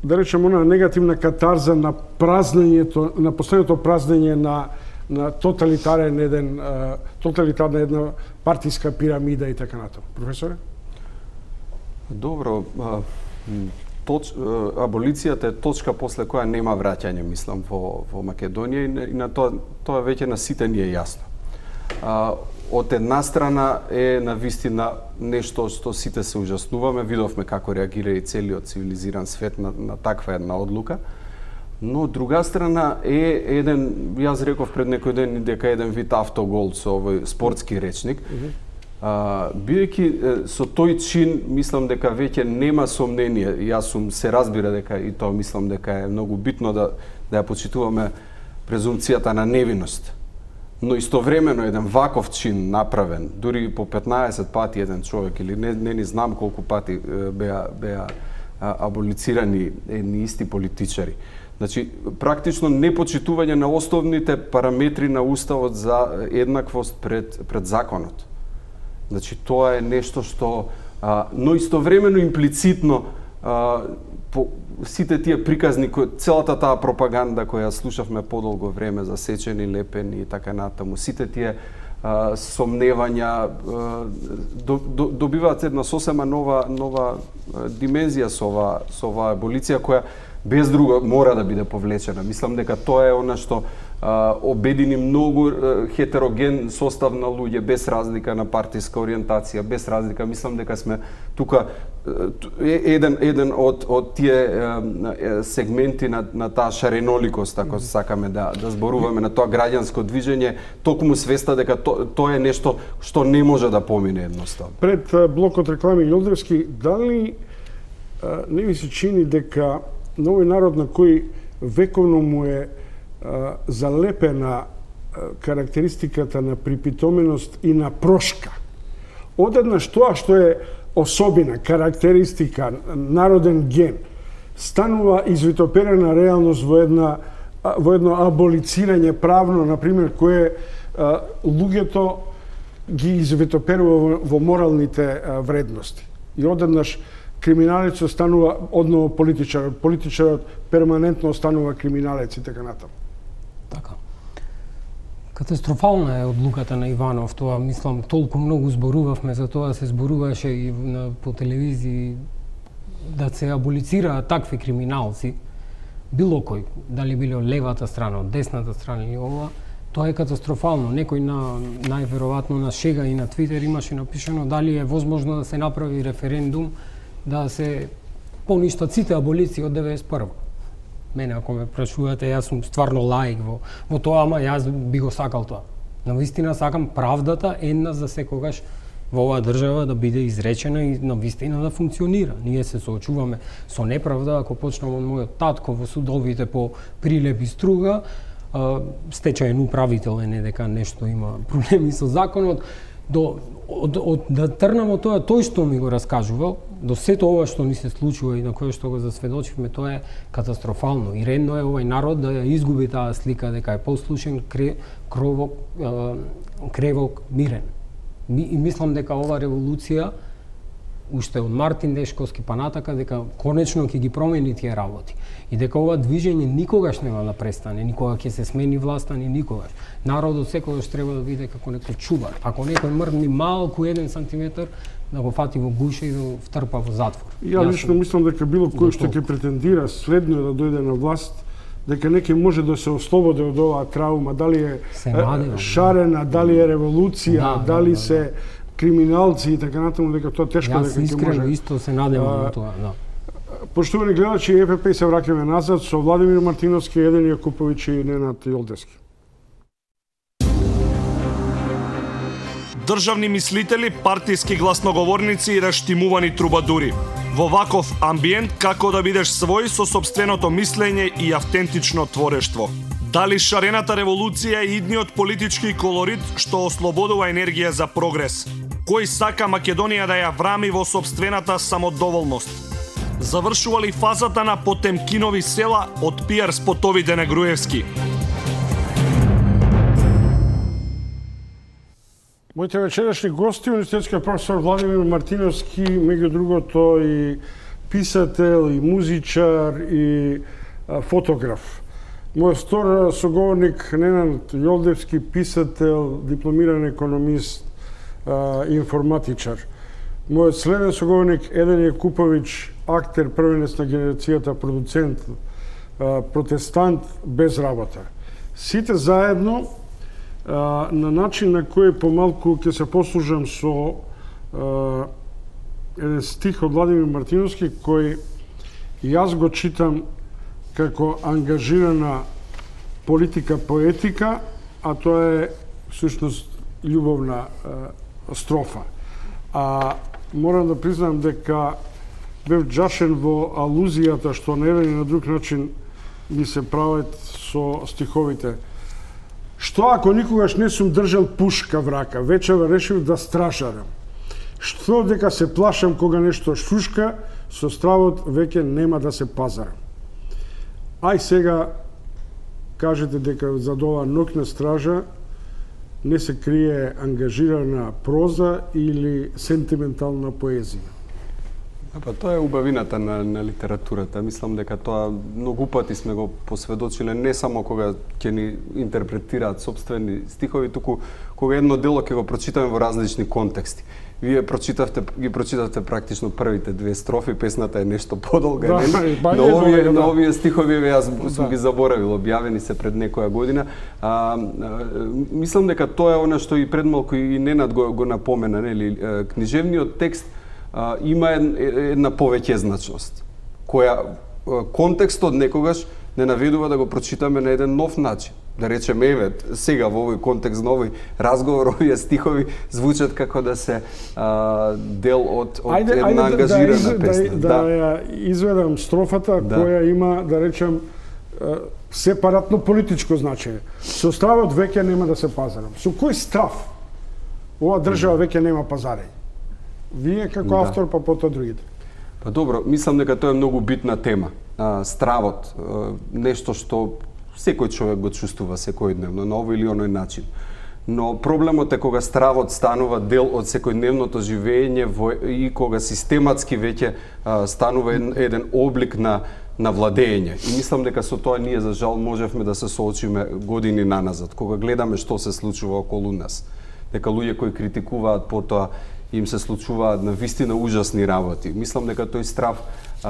да речем, она негативна катарза на празнењето, на последното празнење на тоталитарна една партиска пирамида и така натаму. Професоре? Добро, аболицијата е точка после која нема враќање, мислам, во Македонија и на тоа веќе на сите ни е јасно. Од една страна е навистина нешто што сите се ужаснуваме, видовме како реагира и целиот цивилизиран свет на таква една одлука, но од друга страна е еден, јас реков пред некој ден дека еден вид автогол со овој спортски речник, бидејќи со тој чин мислам дека веќе нема сомнение, јас се разбира дека и тоа мислам дека е многу битно да ја почитуваме презумпцијата на невиност. Но истовремено еден ваков чин направен, дури по 15 пати еден човек или не ни знам колку пати беа аболицирани едни исти политичари. Значи, практично непочитување на основните параметри на уставот за еднаквост пред законот. Значи, тоа е нешто што, но истовремено имплицитно сите тие приказни, целата таа пропаганда која слушавме подолго време за сечени, лепени и така натаму, сите тие сомневања добиваат една сосема нова димензија со оваа аболиција која без друго мора да биде повлечена. Мислам дека тоа е она што обедини многу хетероген состав на луѓе без разлика на партиска ориентација, без разлика. Мислам дека сме тука еден од тие сегменти на таа шареноликост, ако сакаме да зборуваме на тоа граѓанско движење, токму свеста дека тоа е нешто што не може да помине едноставно. Пред блокот реклами Јолдевски, дали не ви се чини дека на овој народ на кој вековно му е залепена карактеристиката на припитоменост и на прошка, одеднаш тоа што е особина, карактеристика, народен ген, станува извитоперена реалност во едно аболицирање правно, например, кое луѓето ги извитоперува во моралните вредности. И одеднаш криминалецот станува одново политичарот перманентно останува криминалец и така натаму. Така. Катастрофална е одлуката на Иванов, тоа мислам толку многу зборувавме за тоа, се зборуваше и по телевизии да се аболицираат такви криминалци, било кој, дали било левата страна, од десната страна или ова, Тоа е катастрофално. Некој најверојатно на шега и на Твитер имаше напишано дали е возможно да се направи референдум да се поништат сите аболиции од 91. Мене, ако ме прашувате, јас сум стварно лаик во тоа, ама јас би го сакал тоа. Навистина сакам правдата еднаш за секогаш во оваа држава да биде изречена и навистина да функционира. Ние се соочуваме со неправда, ако почнам од мојот татко во судовите по прилеп и струга, стечаен управител е не дека нешто има проблеми со законот, да трнам од тоа, тој што ми го раскажувал, до сето ова што ни се случува и на кое што го засведочивме, тоа е катастрофално. И редно е овај народ да ја изгуби таа слика дека е послушен, кревок, мирен. И мислам дека ова револуција, уште од Мартин Дешковски па натака, дека конечно ќе ги промени тие работи. И дека ова движење никогаш нема да престане, никога ќе се смени власта, ни никогаш. Народот секогаш треба да биде како некој чувар. Ако некој мрдни малку 1 сантиметар, да го фати во гуша и да го втрпа во затвор. Ја лично мислам дека било кој што ќе претендира следно да дојде на власт, дека некој може да се ослободи од оваа траума, дали е шарена, дали е револуција, дали се криминалци и така натаму, дека тоа тешко дека ќе може. Јас искрено исто се надевам на тоа, да. Поштовани гледачи, ЕПП се враќаме назад со Владимир Мартиновски, Еден Јакуповиќ и Ненад Јолдевски. Државни мислители, партиски гласноговорници и раштимувани трубадури. Во ваков амбиент како да бидеш свој со сопственото мислење и автентично творештво. Дали шарената револуција е идниот политички колорит што ослободува енергија за прогрес? Кој сака Македонија да ја врами во сопствената самодоволност? Завршува ли фазата на Потемкинови села од пиар спотовите на Груевски? Моите вечерашни гости, универзитетскиот професор Владимир Мартиновски, меѓу другото и писател, и музичар, и фотограф. Мојот втор соговорник Ненад Јолдевски, писател, дипломиран економист, информатичар. Мојот следен соговорник Еден Јакуповиќ, актер, првенец на генерацијата, продуцент, протестант без работа. Сите заедно на начин на кој помалку ќе се послужам со еден стих од Владимир Мартиновски кој јас го читам како ангажирана политика поетика, а тоа е всушност љубовна строфа. А морам да признам дека бев џашен во алузијата што на еден и на друг начин ми се прават со стиховите. Што ако никогаш не сум држал пушка в рака, вечера решив да стражарам. Што дека се плашам кога нешто шушка, со стравот веќе нема да се пазарам. Ај сега кажете дека за ова ноќна стража не се крие ангажирана проза или сентиментална поезија. Па тоа е убавината на литературата. Мислам дека тоа многу пати сме го посведочиле, не само кога ќе ни интерпретираат собствени стихови, туку кога едно дело ќе го прочитаме во различни контексти. Вие ги прочитавте практично првите 2 строфи, песната е нешто подолга, на овие стихови јас сум ги заборавил, објавени се пред некоја година. Мислам дека тоа е она што и предмалку и Ненад го напомена, нели, книжевниот текст има една повеќезначност, која контекстот некогаш не наведува да го прочитаме на еден нов начин. Да речеме, еве, сега во овој контекст на овој разговор, овие стихови звучат како да се дел од една ангажирана песна. Да ја изведам строфата која има, да речем, сепаратно политичко значење. Со стравот веќе нема да се пазарам. Со кој страв ова држава веќе нема пазарење? Вие како автор, па потоа другите. Па добро, мислам дека тоа е многу битна тема. Стравот, нешто што секој човек го чувствува секојдневно на овој или оној начин. Но проблемот е кога стравот станува дел од секојдневното живење и кога систематски веќе станува еден облик на владење. И мислам дека со тоа ние за жал можевме да се соочиме години наназад, кога гледаме што се случува околу нас. Дека луѓе кои критикуваат потоа им се случуваат на вистина ужасни работи. Мислам дека тој страв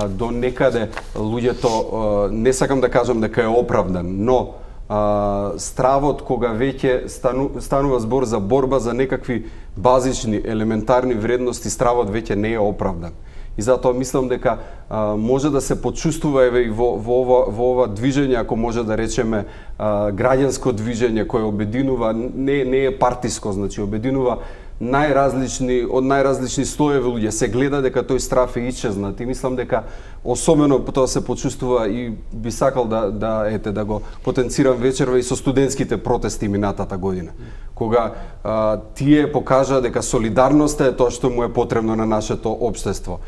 до некаде луѓето, не сакам да кажам дека е оправдан, но стравот кога веќе станува збор за борба за некакви базични, елементарни вредности, стравот веќе не е оправдан. И затоа мислам дека може да се почувствува еве и во ова движење, ако може да речеме граѓанско движење кое обединува, не е партиско, значи обединува од најразлични слоеви луѓе. Се гледа дека тој страв е исчезнат и мислам дека особено тоа се почувствува и би сакал да го потенцирам вечерва и со студентските протести минатата година. Кога тие покажа дека солидарноста е тоа што му е потребно на нашето општество.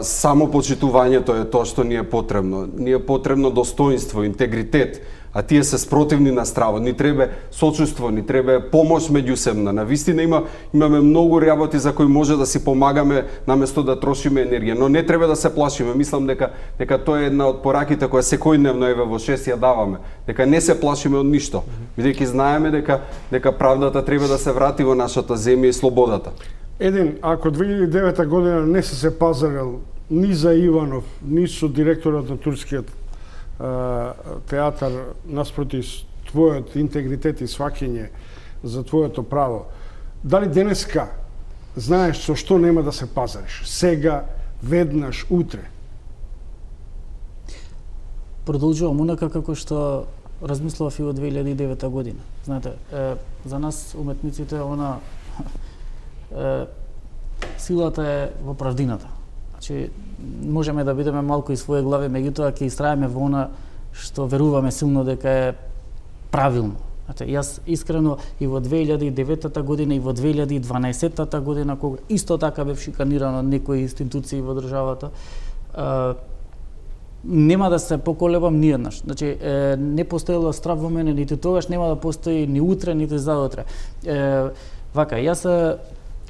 Само почитувањето е тоа што ни е потребно. Ни е потребно достоинство, интегритет, а тие се спротивни на стравот. Ни треба сочувство, ни треба помош меѓусебна. Навистина имаме многу работи за кои може да си помагаме наместо да трошиме енергија, но не треба да се плашиме. Мислам дека тоа е една од пораките која секојдневно еве во 6 ја даваме, дека не се плашиме од ништо, бидејќи знаеме дека правдата треба да се врати во нашата земја и слободата. Ако 2009 година не се пазарел ни за Иванов, ни со директорот на турскиот театар наспроти твојот интегритет и сваќање за твоето право, дали денеска знаеш со што нема да се пазариш? Сега, веднаш, утре? Продолжувам онака како што размислував и во 2009 година. Знаете, за нас уметниците силата е во правдината. Значи, можеме да бидеме малку и своје глави, меѓутоа ќе истраеме во она што веруваме силно дека е правилно. Значи, јас искрено и во 2009 година и во 2012 година, кога исто така бев шиканиран од некои институции во државата, нема да се поколебам ниеднаш. Значи, не постоело страв во мене нити тогаш, нема да постои ни утре, нити заутре. Вака, јас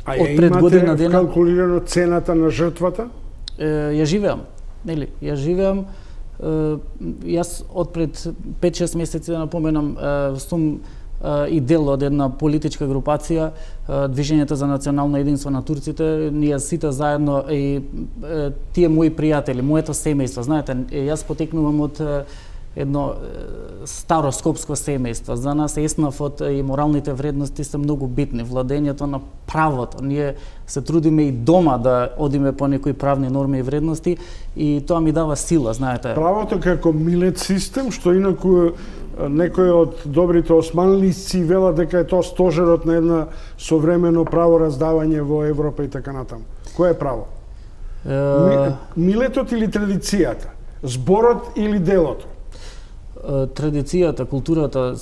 од пред година дена калкулирано цената на жртвата? Ја живеам, нели? Ја живеам. Јас од пред 5-6 месеци, да напоменам, сум и дел од една политичка групација, Движењето за национално единство на турците. Ние сите заедно и тие мои пријатели, моето семејство, знаете, јас потекнувам од едно старо скопско семејство. За нас еснафот и моралните вредности се многу битни. Владењето на правото. Ние се трудиме и дома да одиме по некои правни норми и вредности и тоа ми дава сила, знаете. Правото како милет систем, што инаку некои од добрите османлисци велат дека е тоа стожерот на една современо правораздавање во Европа и така натаму. Кој е право? Милетот или традицијата? Зборот или делото? Традицијата, културата,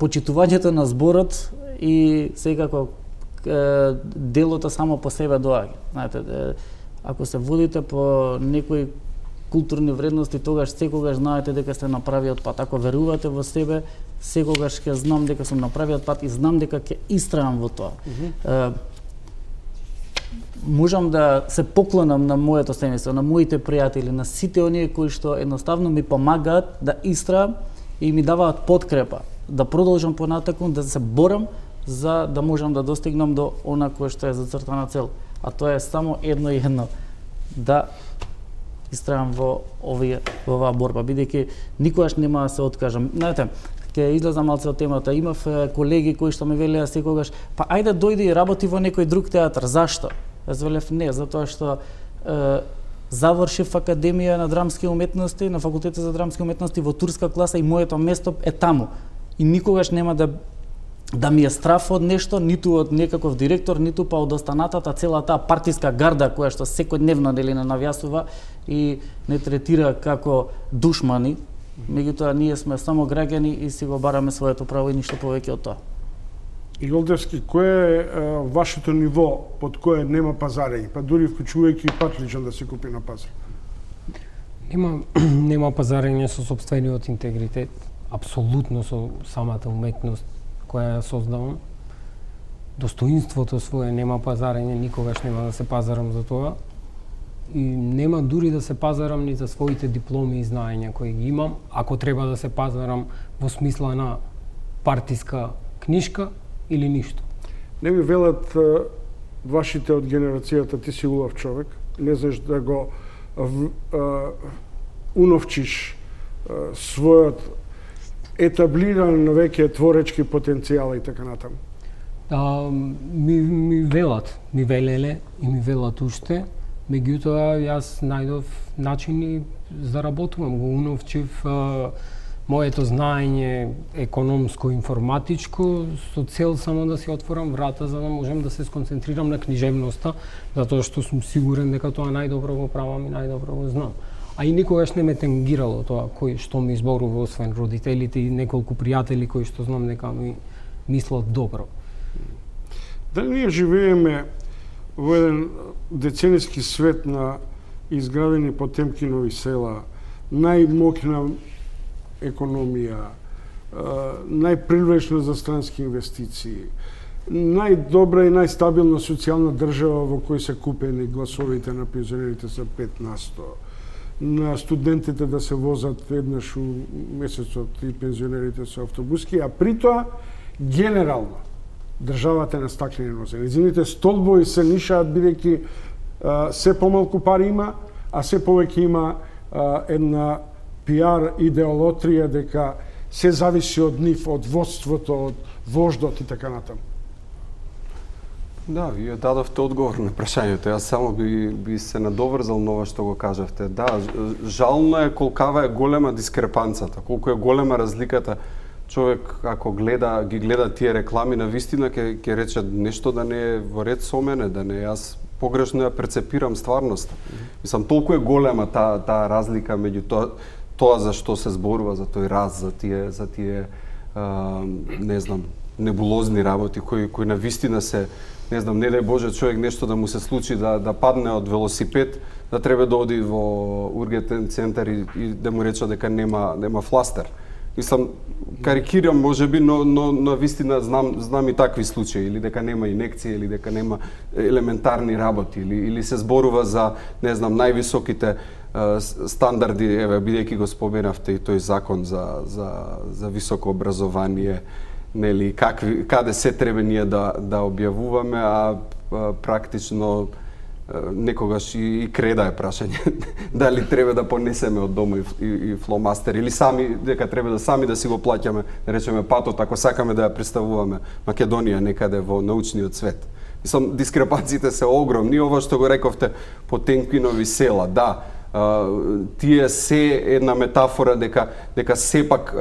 почитувањето на зборот и секако делото само по себе доаѓа. Знаете, ако се водите по некои културни вредности, тогаш секогаш знаете дека сте на правиот пат. Ако верувате во себе, секогаш ќе знам дека сум на правиот пат и знам дека ќе истрајам во тоа. Можам да се поклонам на моето семејство, на моите пријатели, на сите оние кои што едноставно ми помагаат да истраам и ми даваат подкрепа, да продолжам понатаку, да се борам за да можам да достигнам до она кое што е зацртана цел. А тоа е само едно и едно, да истраам во оваа борба, бидејќи никогаш нема да се откажам. Знаете, ќе излезам малце од темата. Имав колеги кои што ме велеа секогаш, па ајде дојди и работи во некој друг театар. Зашто? Јас велев не, затоа што завршив Академија на драмски уметности, на Факултетот за драмски уметности во турска класа и моето место е таму. И никогаш нема да ми е страф од нешто, ниту од некаков директор, ниту па од останатата, цела таа партиска гарда која што секојдневно нели не навјасува и не третира како душмани. Меѓутоа ние сме само граѓани и си го бараме своето право и ништо повеќе од тоа. Иголдевски, кое е вашето ниво под кое нема пазарење, па дури вклучувајќи и патличен да се купи на пазар? Нема пазарење со сопствениот интегритет, апсолутно со самата уметност која ја создавам. Достоинството свое нема пазарење, никогаш нема да се пазарам за тоа. И нема дури да се пазарам ни за своите дипломи и знаења кои ги имам, ако треба да се пазарам во смисла на партиска книшка или ништо. Не ви велат вашите од генерацијата, ти си улав човек, не знаеш да го уновчиш својот етаблиран на веќе творечки потенцијал и така натаму? Ми велат, ми велеле и ми велат уште, меѓутоа јас најдов начини за работувам, го уновчив моето знаење економско-информатичко со цел само да си отворам врата за да можем да се сконцентрирам на книжевноста, затоа што сум сигурен дека тоа најдобро го правам и најдобро го знам. А и никогаш не ме тенгирало тоа кој што ми изборува, освен родителите и неколку пријатели кои што знам дека ми мислат добро. Дали ние живееме во еден децениски свет на изградени Потемкинови села, најмокна економија, најпривлечна за странски инвестиции, најдобра и најстабилна социјална држава во кој се купени гласовите на пензионерите за 5%, на студентите да се возат еднаш у месецот и пензионерите со автобуски, а при тоа генерално државата е на стаклени нозе. Незините столбови се нишаат бидејќи се помалку пари има, а се повеќе има една пиар идеолотрија дека се зависи од нив, од водството, од вождот и така натаму. Да, вие дадовте одговор на прашањето. Јас само би се надоврзал на ова што го кажавте. Да, жално е колкава е голема дискрепанцата, колку е голема разликата. Човек ако ги гледа тие реклами, на вистина ќе рече нешто да не е во ред со мене, да не јас погрешно ја перцепирам стварноста. Мислам, толку е голема таа разлика меѓу тоа за што се зборува, за тој раз, за тие не знам, небулозни работи кои на вистина се, не знам, не дај Боже човек нешто да му се случи да падне од велосипед, да треба да оди во ургентен центар и да му рече дека нема фластер. Мислам, карикирам можеби, но на вистина знам и такви случаи, или дека нема инекција, или дека нема елементарни работи, или се зборува за, не знам, највисоките стандарди, еве, бидејќи го споменавте и тој закон за високо образование, нели, каде се треба ние да објавуваме, а практично некогаш и креда е прашање дали треба да понесеме од дома и фломастер или дека треба да сами да си го плаќаме, да речеме патот ако сакаме да ја представуваме Македонија некаде во научниот свет. Мислам, дискрепациите се огромни, ова што го рековте Потемкинови села, да, тие се една метафора дека сепак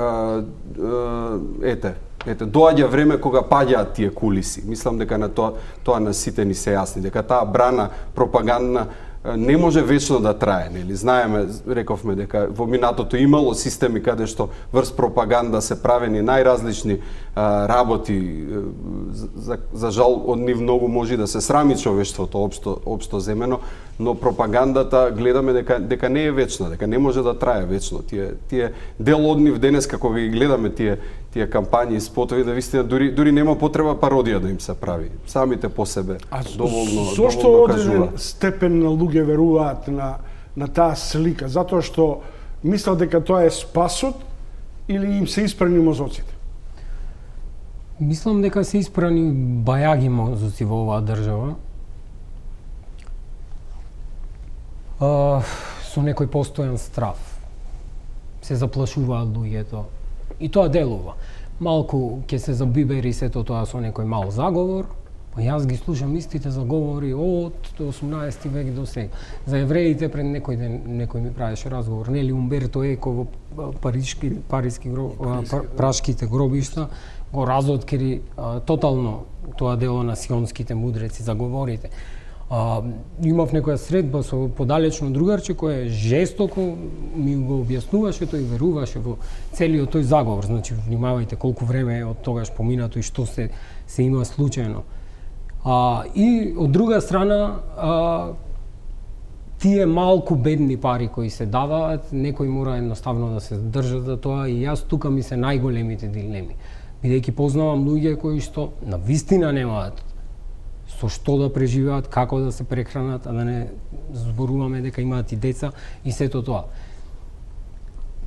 доаѓа време кога паѓаат тие кулиси. Мислам дека на тоа на сите ни се јасни, дека таа брана пропагандна не може вечно да трае, нели? Знаеме, рековме дека во минатото имало системи каде што врз пропаганда се правени најразлични работи. За жал од нив многу може да се срами човештвото општо земено, но пропагандата гледаме дека не е вечна, дека не може да трае вечно. Тие дел од нив денеска кога ги гледаме тие кампањи и спотови, да вистина дури нема потреба пародија да им се прави. Самите по себе доволно кажува. Зошто одреден степен на луѓе веруваат на таа слика? Затоа што мислат дека тоа е спасот или им се испрани мозоците? Мислам дека се испрани бајаги мозоци во оваа држава. Со некој постојан страф. Се заплашуваат луѓето. И тоа делува. Малку ќе се забибери сето тоа со некој мал заговор, па јас ги слушам истите заговори од 18 век до сега. За евреите пред некој ден некој ми правеше разговор, нели Умберто Еко во прашките гробишта го разоткри тотално тоа дело на сионските мудреци, заговорите. Имав некоја средба со подалечно другарче кој жестоко ми го објаснуваше, тој веруваше во целиот тој заговор. Значи, внимавајте колку време е од тогаш поминато и што се има случајно. И од друга страна, тие малку бедни пари кои се даваат, некој мора едноставно да се држат за тоа и јас тука ми се најголемите дилеми. Бидејќи познавам луѓе кои што на вистина немаат со што да преживеат, како да се прехранат, а да не зборуваме дека имаат и деца и сето тоа.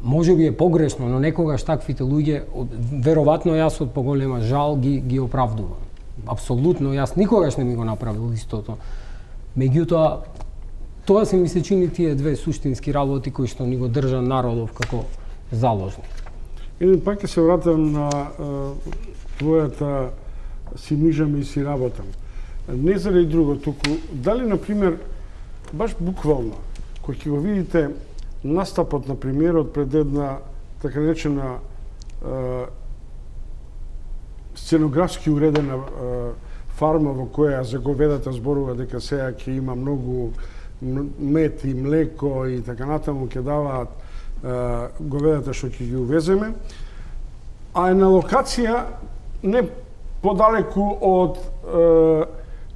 Може би е погрешно, но некогаш таквите луѓе, веројатно јас од поголема жал ги оправдувам. Апсолутно, јас никогаш не ми го направил истото. Меѓутоа, тоа се ми се чини тие две суштински работи кои што ни го држа народов како заложник. Еден пак ќе се вратам на твојата си мижам и си работам. Не заради друго, туку дали, например, баш буквално, кој ќе го видите настапот на премиерот пред една така наречена сценографски уредена фарма во која за говедата зборува дека сега ќе има многу мед и млеко и така натаму ќе даваат говедата што ќе ги увеземе, а е на локација не подалеку од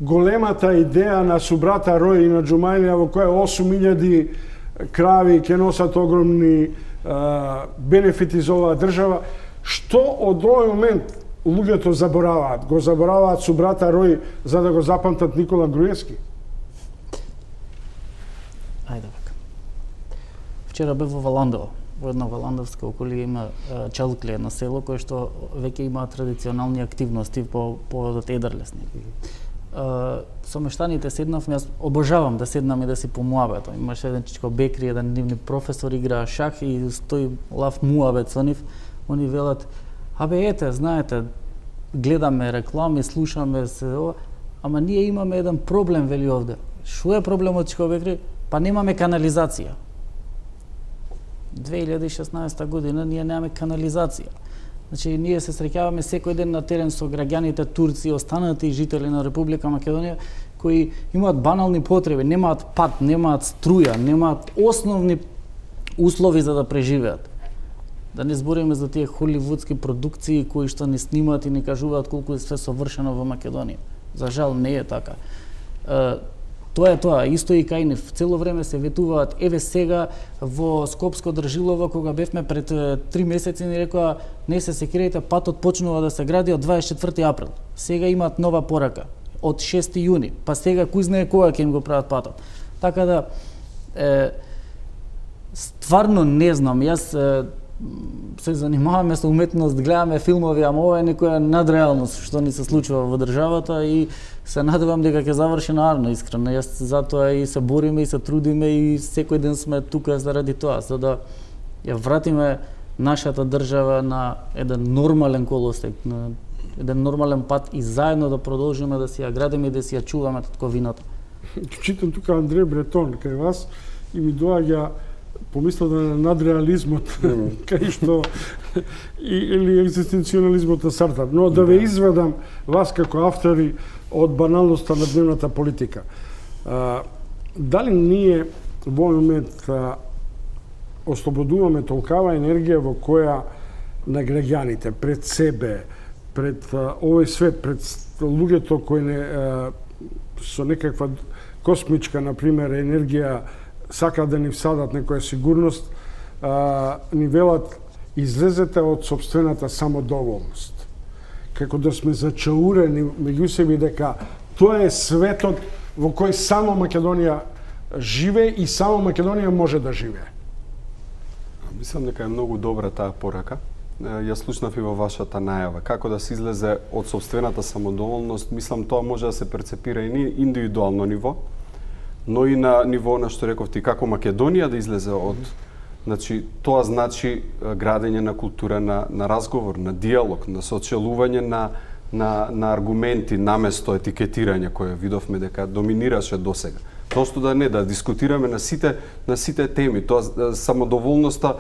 големата идеја на Субрата Рој и на Джумајлија во која 8.000 крави ќе носат огромни бенефити за оваа држава. Што од овој момент луѓето забораваат? Го забораваат Субрата Рој за да го запамтат Никола Груевски? Ајде вака. Вчера бев во Валандово. Во една валандовска околија има Чалкле, едно село кое што веќе има традиционални активности по поводот Едарлес. Со мештаните седнавме, јас обожавам да седнам и да си по муабет. Имаше еден чичко бекри, еден нивни професор играа шах и стои лав муабет со нив. Они велат: "Абе ете, знаете, гледаме реклами, слушаме се, ама ние имаме еден проблем, вели овде." Шо е проблемот, чичко бекри? Па немаме канализација. 2016 година ние немаме канализација. Значи, ние се среќаваме секој ден на терен со граѓаните турци, останати жители на Република Македонија, кои имаат банални потреби, немаат пат, немаат струја, немаат основни услови за да преживеат. Да не збориме за тие холивудски продукции кои што ни снимаат и ни кажуваат колку е све совршено во Македонија. За жал не е така. Тоа е тоа, исто и кај нив. Цело време се ветуваат. Еве сега во Скопско Држилово, кога бевме пред 3 месеци, ни рекоа: "Не се секирајте, патот почнува да се гради од 24 април. Сега имаат нова порака од 6 јуни, па сега кој знае кога ќе им го прават патот." Така да стварно не знам. Јас се занимаваме со уметност, гледаме филмови, ама ова е некоја надреалност што ни се случува во државата и се надевам дека ќе заврши наарно, искрено. Јас затоа и се бориме и се трудиме и секој ден сме тука заради тоа, за да ја вратиме нашата држава на еден нормален колосек, на еден нормален пат и заедно да продолжиме да си ја градиме и да си ја чуваме татковината. Читам тука Андреј Бретон кај вас и ми доаѓа помислата на надреализмот, кај што или екзистенцијализмот на Сартар. Но да ве изведам вас како автори од баналноста на дневната политика. Дали ние во момент ослободуваме толкава енергија во која на граѓаните, пред себе, пред овој свет, пред луѓето кои со некаква космичка, например, енергија сакаат да ни всадат некоја сигурност, ни велат: излезете од сопствената самодоволност. Како да сме зачаурени меѓу себе дека тоа е светот во кој само Македонија живее и само Македонија може да живее. Мислам дека е многу добра таа порака. Јас слушнав и во вашата најава. Како да се излезе од сопствената самодоволност, мислам тоа може да се перцепира и на индивидуално ниво, но и на ниво на што рековте, како Македонија да излезе од... Значи, тоа значи градење на култура на разговор, на диалог, на сочелување на аргументи наместо етикетирање кое видовме дека доминираше досега. Просто да дискутираме на сите теми. Тоа самодоволноста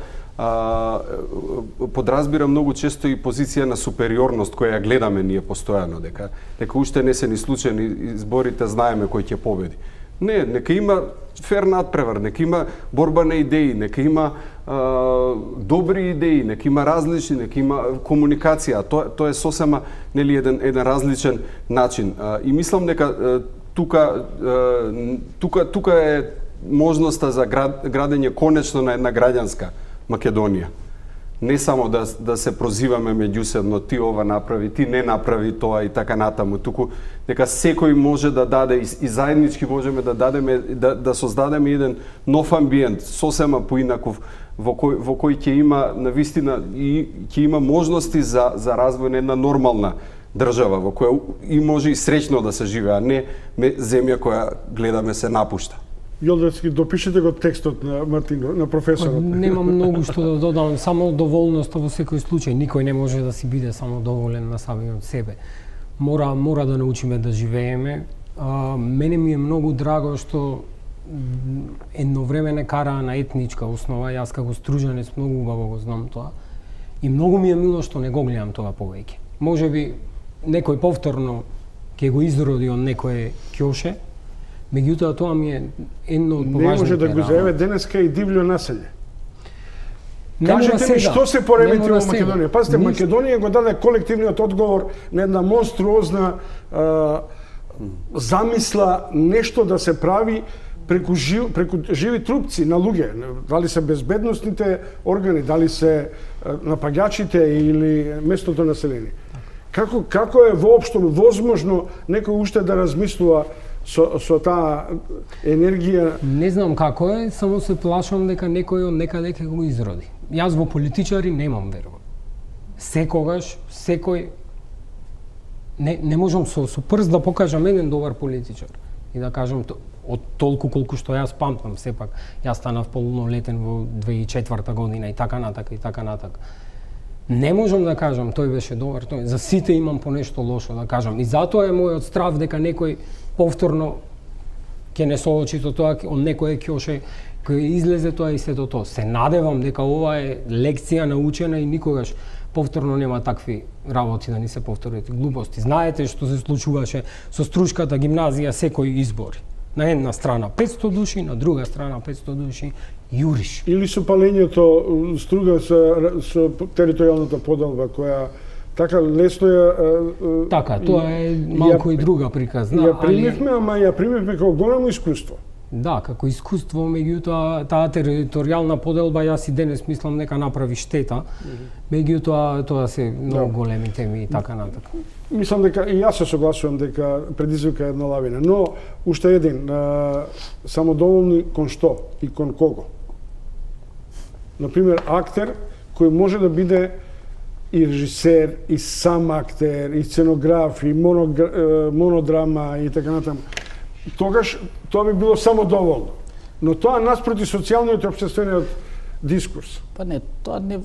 подразбира многу често и позиција на супериорност која ја гледаме ние постојано, дека уште не се ни случајни изборите, знаеме кој ќе победи. Не, нека има фер надпревар, нека има борба на идеи, нека има добри идеи, нека има различни, нека има комуникација. Тоа е сосема нели еден различен начин. И мислам дека тука е можноста за градење конечно на една граѓанска Македонија. Не само да се прозиваме меѓусебно, ти ова направи, ти не направи тоа и така натаму, туку дека секој може да даде и заеднички можеме да дадеме, да создадеме еден нов амбиент, сосема поинаков, во кој ќе има навистина и ќе има можности за развој на една нормална држава во која и може и среќно да се живее, а не земја која гледаме се напушта. Јолдевски, допишете го текстот на Мартино, на професорот. Нема многу што да додам, само доволноста во секој случај. Никој не може да си биде само доволен на самиот себе. Мора да научиме да живееме. Мене ми е многу драго што едно време не караа на етничка основа, јас како стружанец многу убаво го знам тоа. И многу ми е мило што не го гледам тоа повеќе. Можеби некој повторно ќе го изроди од некој ќоше, меѓутоа тоа ми е едно од поважните. Не може да го заеме денеска и дивљо населје. Кажете ми што се поремети во Македонија. Пазите, Македонија го даде колективниот одговор на една монструозна замисла нешто да се прави преку живи трупци на луѓе, дали се безбедносните органи, дали се напаѓачите или местното население. Како е воопшто возможно некој уште да размислува со таа енергија? Не знам како е, само се плашам дека некој од некаде ќе го изроди. Јас во политичари немам верува. Секогаш, секој не можам со прст да покажам еден добар политичар и да кажам од толку колку што јас памтам, сепак јас станав полнолетен во 2004 година и така натака. Не можам да кажам тој беше добар, за сите имам по нешто лошо да кажам. И затоа е мојот страв дека некој повторно ќе не соочи со тоа, од некој ќоше кој излезе тоа и сето тоа. Се надевам дека ова е лекција научена и никогаш повторно нема такви работи да ни се повторат глупости. Знаете што се случуваше со Струшката гимназија секој избори. На една страна 500 души, на друга страна 500 души, јуриш. Или со палењето струга со територијалната поделба, која така лесно ја... Така, тоа е малку и друга приказна. Ја примевме, ама ја примевме како голямо искуство. Да, како искуство, меѓутоа таа територијална поделба јас и денес мислам дека направи штета. Меѓутоа тоа се многу големи теми и така натака. Мислам дека и јас се согласувам дека предизвика една лавина, но уште еден самодоволни кон што и кон кого. Например, актер кој може да биде и режисер, и сам актер, и сценограф, и монодрама и така натаму. Тогаш тоа би било само доволно. Но тоа наспроти социјалниот и општествениот дискурс. Па не, тоа не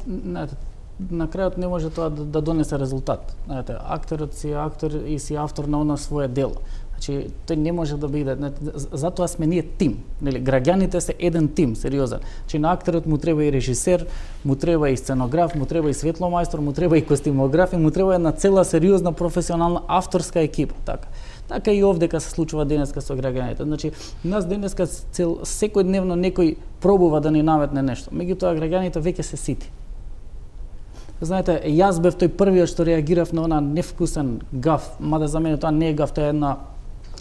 на крајот не може тоа да донесе резултат. Знаете, актерот си актер и си автор на оно свое дело. Значи, тој не може да биде, затоа сме ние тим, нели? Граѓаните се еден тим, сериозен. Значи на актерот му треба и режисер, му треба и сценограф, му треба и светломајстор, му треба и костимограф, и му треба една цела сериозна професионална авторска екипа, така. Така и овдека се случува денеска со граѓаните. Значи, нас денеска секојдневно некој пробува да ни наметне нешто. Меѓутоа граѓаните веќе се сити. Знаете, јас бев тој првиот што реагирав на она невкусен гаф, мада за мене тоа не е гаф, тоа е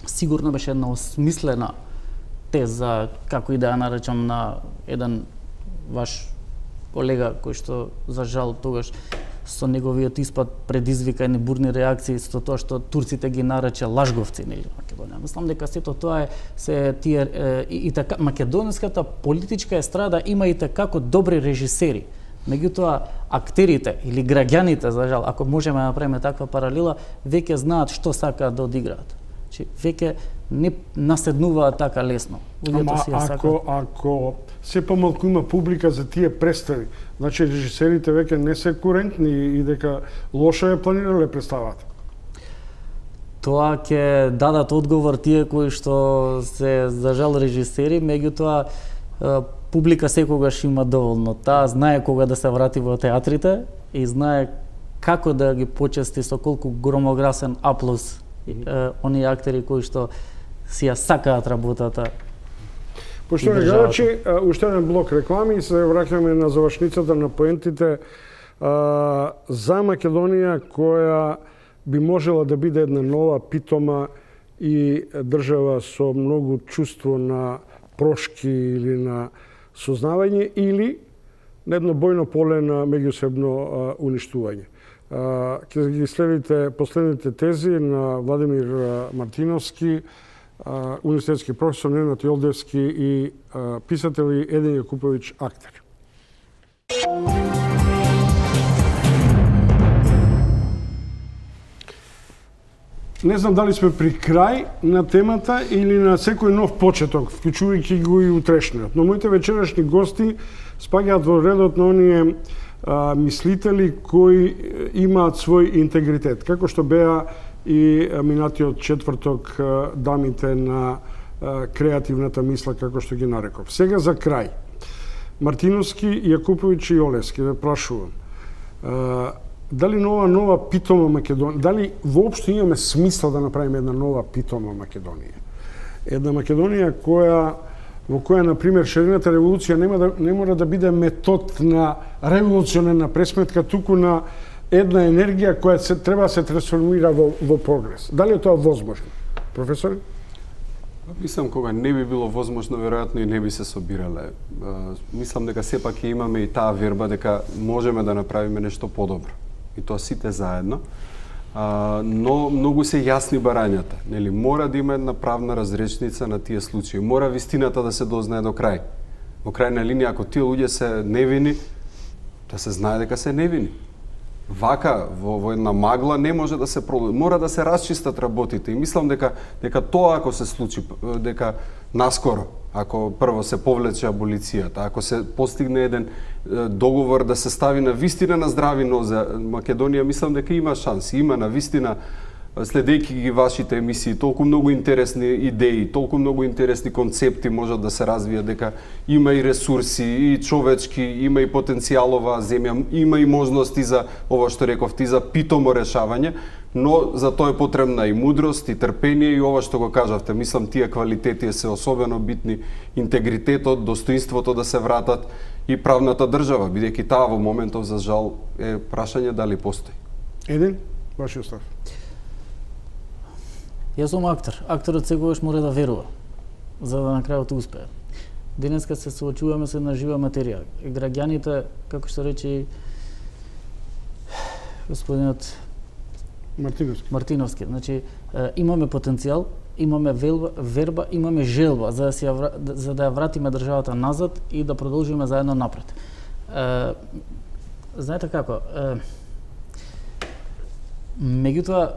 сигурно беше една осмислена теза, како и да ја наречам, на еден ваш колега кој што за жал тогаш со неговиот испад предизвика едни бурни реакции со тоа што турците ги нарече лажговци, нели, Македонија. Мислам дека сето тоа е се тие и така македонската политичка естрада има и како добри режисери. Меѓутоа актерите или граѓаните, за жал, ако можеме да направиме таква паралела, веќе знаат што сакаат да одиграат. Значи веќе не наседнуваат така лесно. Ама ако се помалку има публика за тие представи, значи режисерите веќе не се курентни и дека лошо е планирале представата. Тоа ќе дадат одговор тие кои што се за жал режисери, меѓутоа публика секогаш има доволно. Таа знае кога да се врати во театрите и знае како да ги почести со колку громогласен аплауз оние актери кои што си ја сакаат работата. Поштовани гледачи, уште еден блок реклами и се враќаме на завршницата на поентите за Македонија, која би можела да биде една нова, питома и држава со многу чувство на прошки или на сознавање, или на едно бојно поле на меѓусебно уништување. Ќе ги следите последните тези на Владимир Мартиновски, универзитетски професор, Ненад Јолдевски и писател Един Јакуповиќ, актер. Не знам дали сме при крај на темата или на секој нов почеток, вклучувајќи го и утрешниот. Но моите вечерашни гости спаѓаат во редот на оние мислители кои имаат свој интегритет, како што беа и минатиот четврток дамите на креативната мисла, како што ги нареков. Сега за крај. Мартиновски, Јакуповиќ и Олевски, ве прашувам. Дали нова питома Македонија, дали воопшто имаме смисла да направиме една нова питома Македонија? Една Македонија во која, например, шарената револуција не мора да биде метод на револуционерна пресметка, туку на една енергија која треба да се трансформира во прогрес. Дали е тоа возможно? Професор? Мислам, кога не би било возможно, веројатно и не би се собирале. Мислам дека сепак имаме и таа верба дека можеме да направиме нешто подобро. И тоа сите заедно. Но многу се јасни барањата. Нели, мора да има една правна разречница на тие случаи. Мора вистината да се дознае до крај. Во крајна линија, ако тие луѓе се невини, да се знае дека се невини. Вака, во една магла не може да се продолжи. Мора да се расчистат работите. И мислам дека тоа ако се случи, дека наскоро, ако прво се повлече аболицијата, ако се постигне еден договор да се стави на вистина на здрави нозе Македонија, мислам дека има шанси. Има на вистина, следејќи ги вашите емисии, толку многу интересни идеи, толку многу интересни концепти можат да се развијат, дека има и ресурси, и човечки, има и потенцијалова земја, има и можности за ова што рековте, и за питомо решавање, но за тоа е потребна и мудрост, и трпение, и ова што го кажавте. Мислам, тие квалитети се особено битни, интегритетот, достоинството да се вратат и правната држава, бидејќи таа во моментов, за жал, е прашање дали постои. Еден, вашиот став. Јас сум актер. Актерот секогаш мора да верува, за да на крајот успее. Денеска се соочуваме со една жива материја. Граѓаните, како што рече господинот Мартиновски, значи имаме потенцијал, имаме верба, имаме желба за да ја вратиме државата назад и да продолжиме заедно напред. Знаете како? Меѓутоа,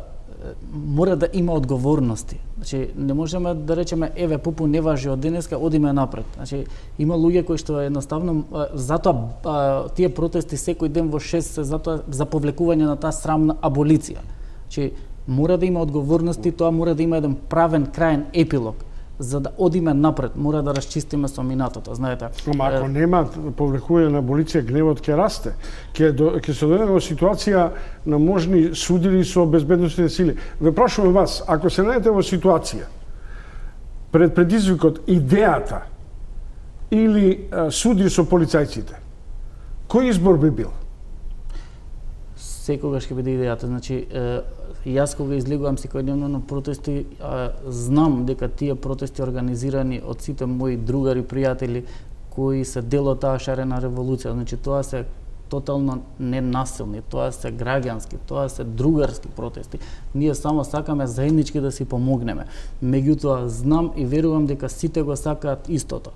мора да има одговорности. Значи, не можеме да речеме, еве, пупу не важи од денеска, одиме напред. Значи, има луѓе кои што едноставно, затоа тие протести секој ден во 6 се затоа за повлекување на таа срамна аболиција. Значи, мора да има одговорности, тоа мора да има еден правен краен епилог. За да одиме напред, мора да расчистиме со минатото, знаете. Ама ако нема повлекување на аболиција, гневот ќе расте. Ќе се дојдеме во ситуација на можни судили со безбедносните сили. Ве прашувам вас, ако се најдете во ситуација пред предизвикот идејата или суди со полицајците, кој избор би бил? Секогаш ќе биде идејата. Значи, јас кога излегувам секојдневно на протести, знам дека тие протести организирани од сите мои другари, пријатели, кои се дел од таа шарена револуција. Значи, тоа се тотално ненасилни, тоа се граѓански, тоа се другарски протести. Ние само сакаме заеднички да си помогнеме. Меѓутоа, знам и верувам дека сите го сакаат истото.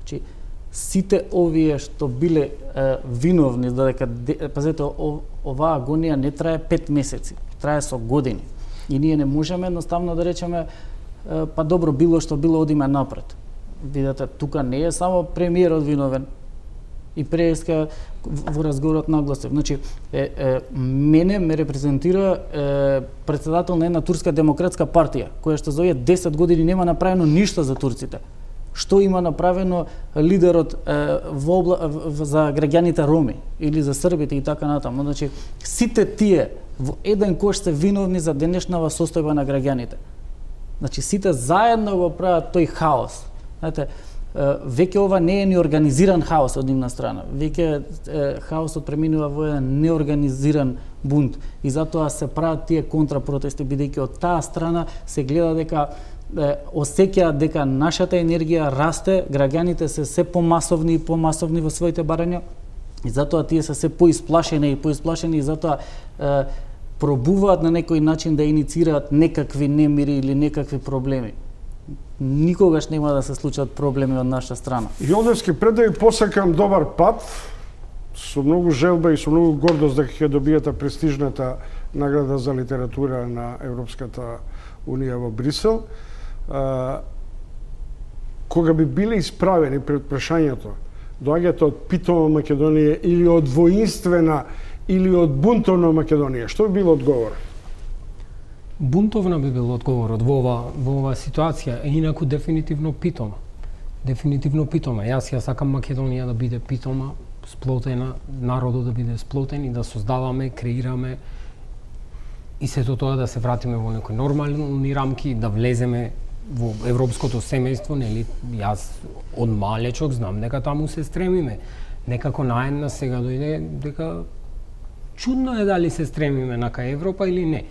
Значи, сите овие што биле виновни, додека, пазете, оваа агонија не трае 5 месеци, трае со години. И ние не можеме едноставно да речеме, па добро, било што било, одиме напред. Видете, тука не е само премиерот виновен, и преска во разговорот нагласив. Значи, мене ме репрезентира председател на една турска демократска партија, која што за овие 10 години нема направено ништо за турците. Што има направено лидерот за граѓаните роми или за србите и така натаму. Значи, сите тие во еден кош се виновни за денешнава состојба на граѓаните. Значи, сите заедно го прават тој хаос. Знаете, веќе ова не е ни организиран хаос од нивна страна. Веќе хаосот преминува во еден неорганизиран бунт. И затоа се прават тие контрапротести, бидејќи од таа страна се гледа дека осеќаат дека нашата енергија расте, граѓаните се помасовни и помасовни во своите барања, и затоа тие се поисплашени и затоа пробуваат на некој начин да инициираат некакви немири или некакви проблеми. Никогаш нема да се случат проблеми од наша страна. Јолдевски, пред да ви посакам добар пат, со многу желба и со многу гордост дека ќе добиете престижната награда за литература на Европската Унија во Брисел. Кога би биле исправени пред прашањето, доаѓате од питома Македонија или од воинствена или од бунтовна Македонија, што би било одговор? Бунтовна би бил одговорот во ова ситуација, инаку дефинитивно питома. Дефинитивно питома. Јас сакам Македонија да биде питома, сплотена, народот да биде сплотен и да создаваме, креираме и сето тоа да се вратиме во некои нормални рамки, да влеземе во европското семејство, нели? Јас од малечок знам дека таму се стремиме. Некако наедна сега дојде дека чудно е дали се стремиме нака Европа или не.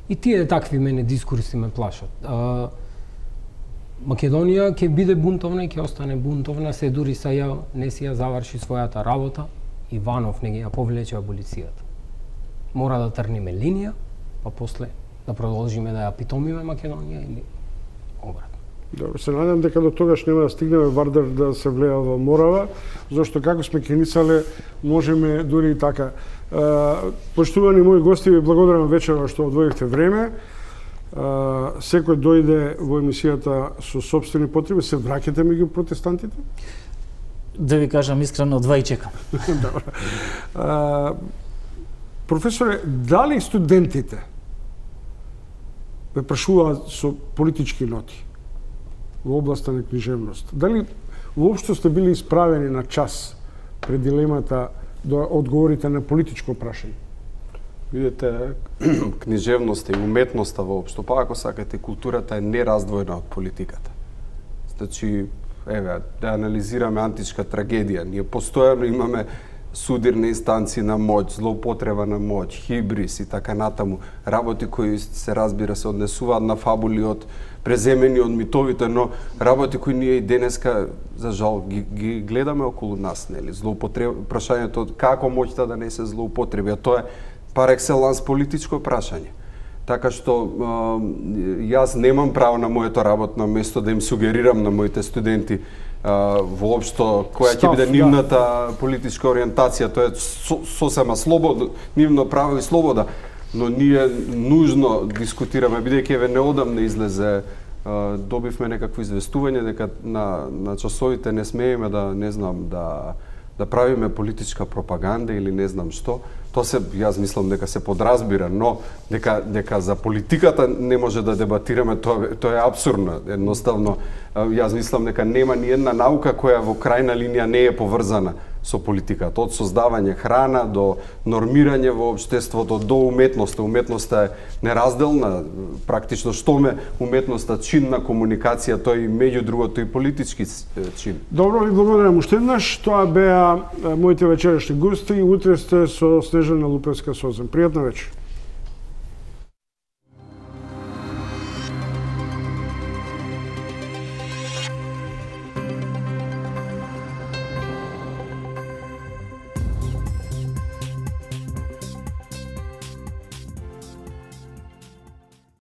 И тие такви мене дискурси ме плашат. Македонија ќе биде бунтовна и ќе остане бунтовна, се дури не си ја заврши својата работа, Иванов не ги ја повлече аболицијата. Мора да трниме линија, па после да продолжиме да ја питомиме Македонија или обратно. Добро, се надам дека до тогаш нема да стигнеме Вардар да се влеа во Морава, зашто како сме кеницале можеме дури и така. Поштувани мои гости, ви благодарам вечерва што одвоивте време. Секој дојде во емисијата со сопствени потреби, се враќате меѓу протестантите? Да ви кажам искрено, два и чекам. Професоре, дали студентите ве прашуваат со политички ноти во областа на книжевност? Дали воопшто сте били исправени на час пред дилемата да одговорите на политичко прашање? Видете, книжевноста и уметноста воопшто, па ако сакате, културата е нераздвоена од политиката. Значи, еве, да анализираме античка трагедија. Ние постојано имаме судирни инстанции на моќ, злоупотреба на моќ, хибрис и така натаму. Работи кои се разбира се однесуваат на фабули од преземени од митовите, но работи кои ние и денеска за жал ги гледаме околу нас, нели? Прашањето како моќта да не се злоупотреби, а тоа е пар екселанс политичко прашање. Така што јас немам право на моето работно место да им сугерирам на моите студенти воопшто која ќе биде нивната политичка ориентација. Тоа е сосема слободно, нивно право и слобода, но ние нужно дискутираме, бидејќи еве неодамна излезе, добивме некакво известување дека на часовите не смееме да, не знам, да правиме политичка пропаганда или не знам што. Тоа се, јас мислам дека се подразбира, но дека за политиката не може да дебатираме, тоа е апсурдно. Едноставно, јас мислам дека нема ни една наука која во крајна линија не е поврзана со политиката. Од создавање храна до нормирање во општеството до уметноста. Уметноста е неразделна, практично што ме уметноста чин на комуникација, тоа и меѓу другото и политички чин. Добро, ви благодарам уште еднаш. Тоа беа моите вечерашни гости и утре сте со Снежана Лупевска Созем. Пријатна вечер.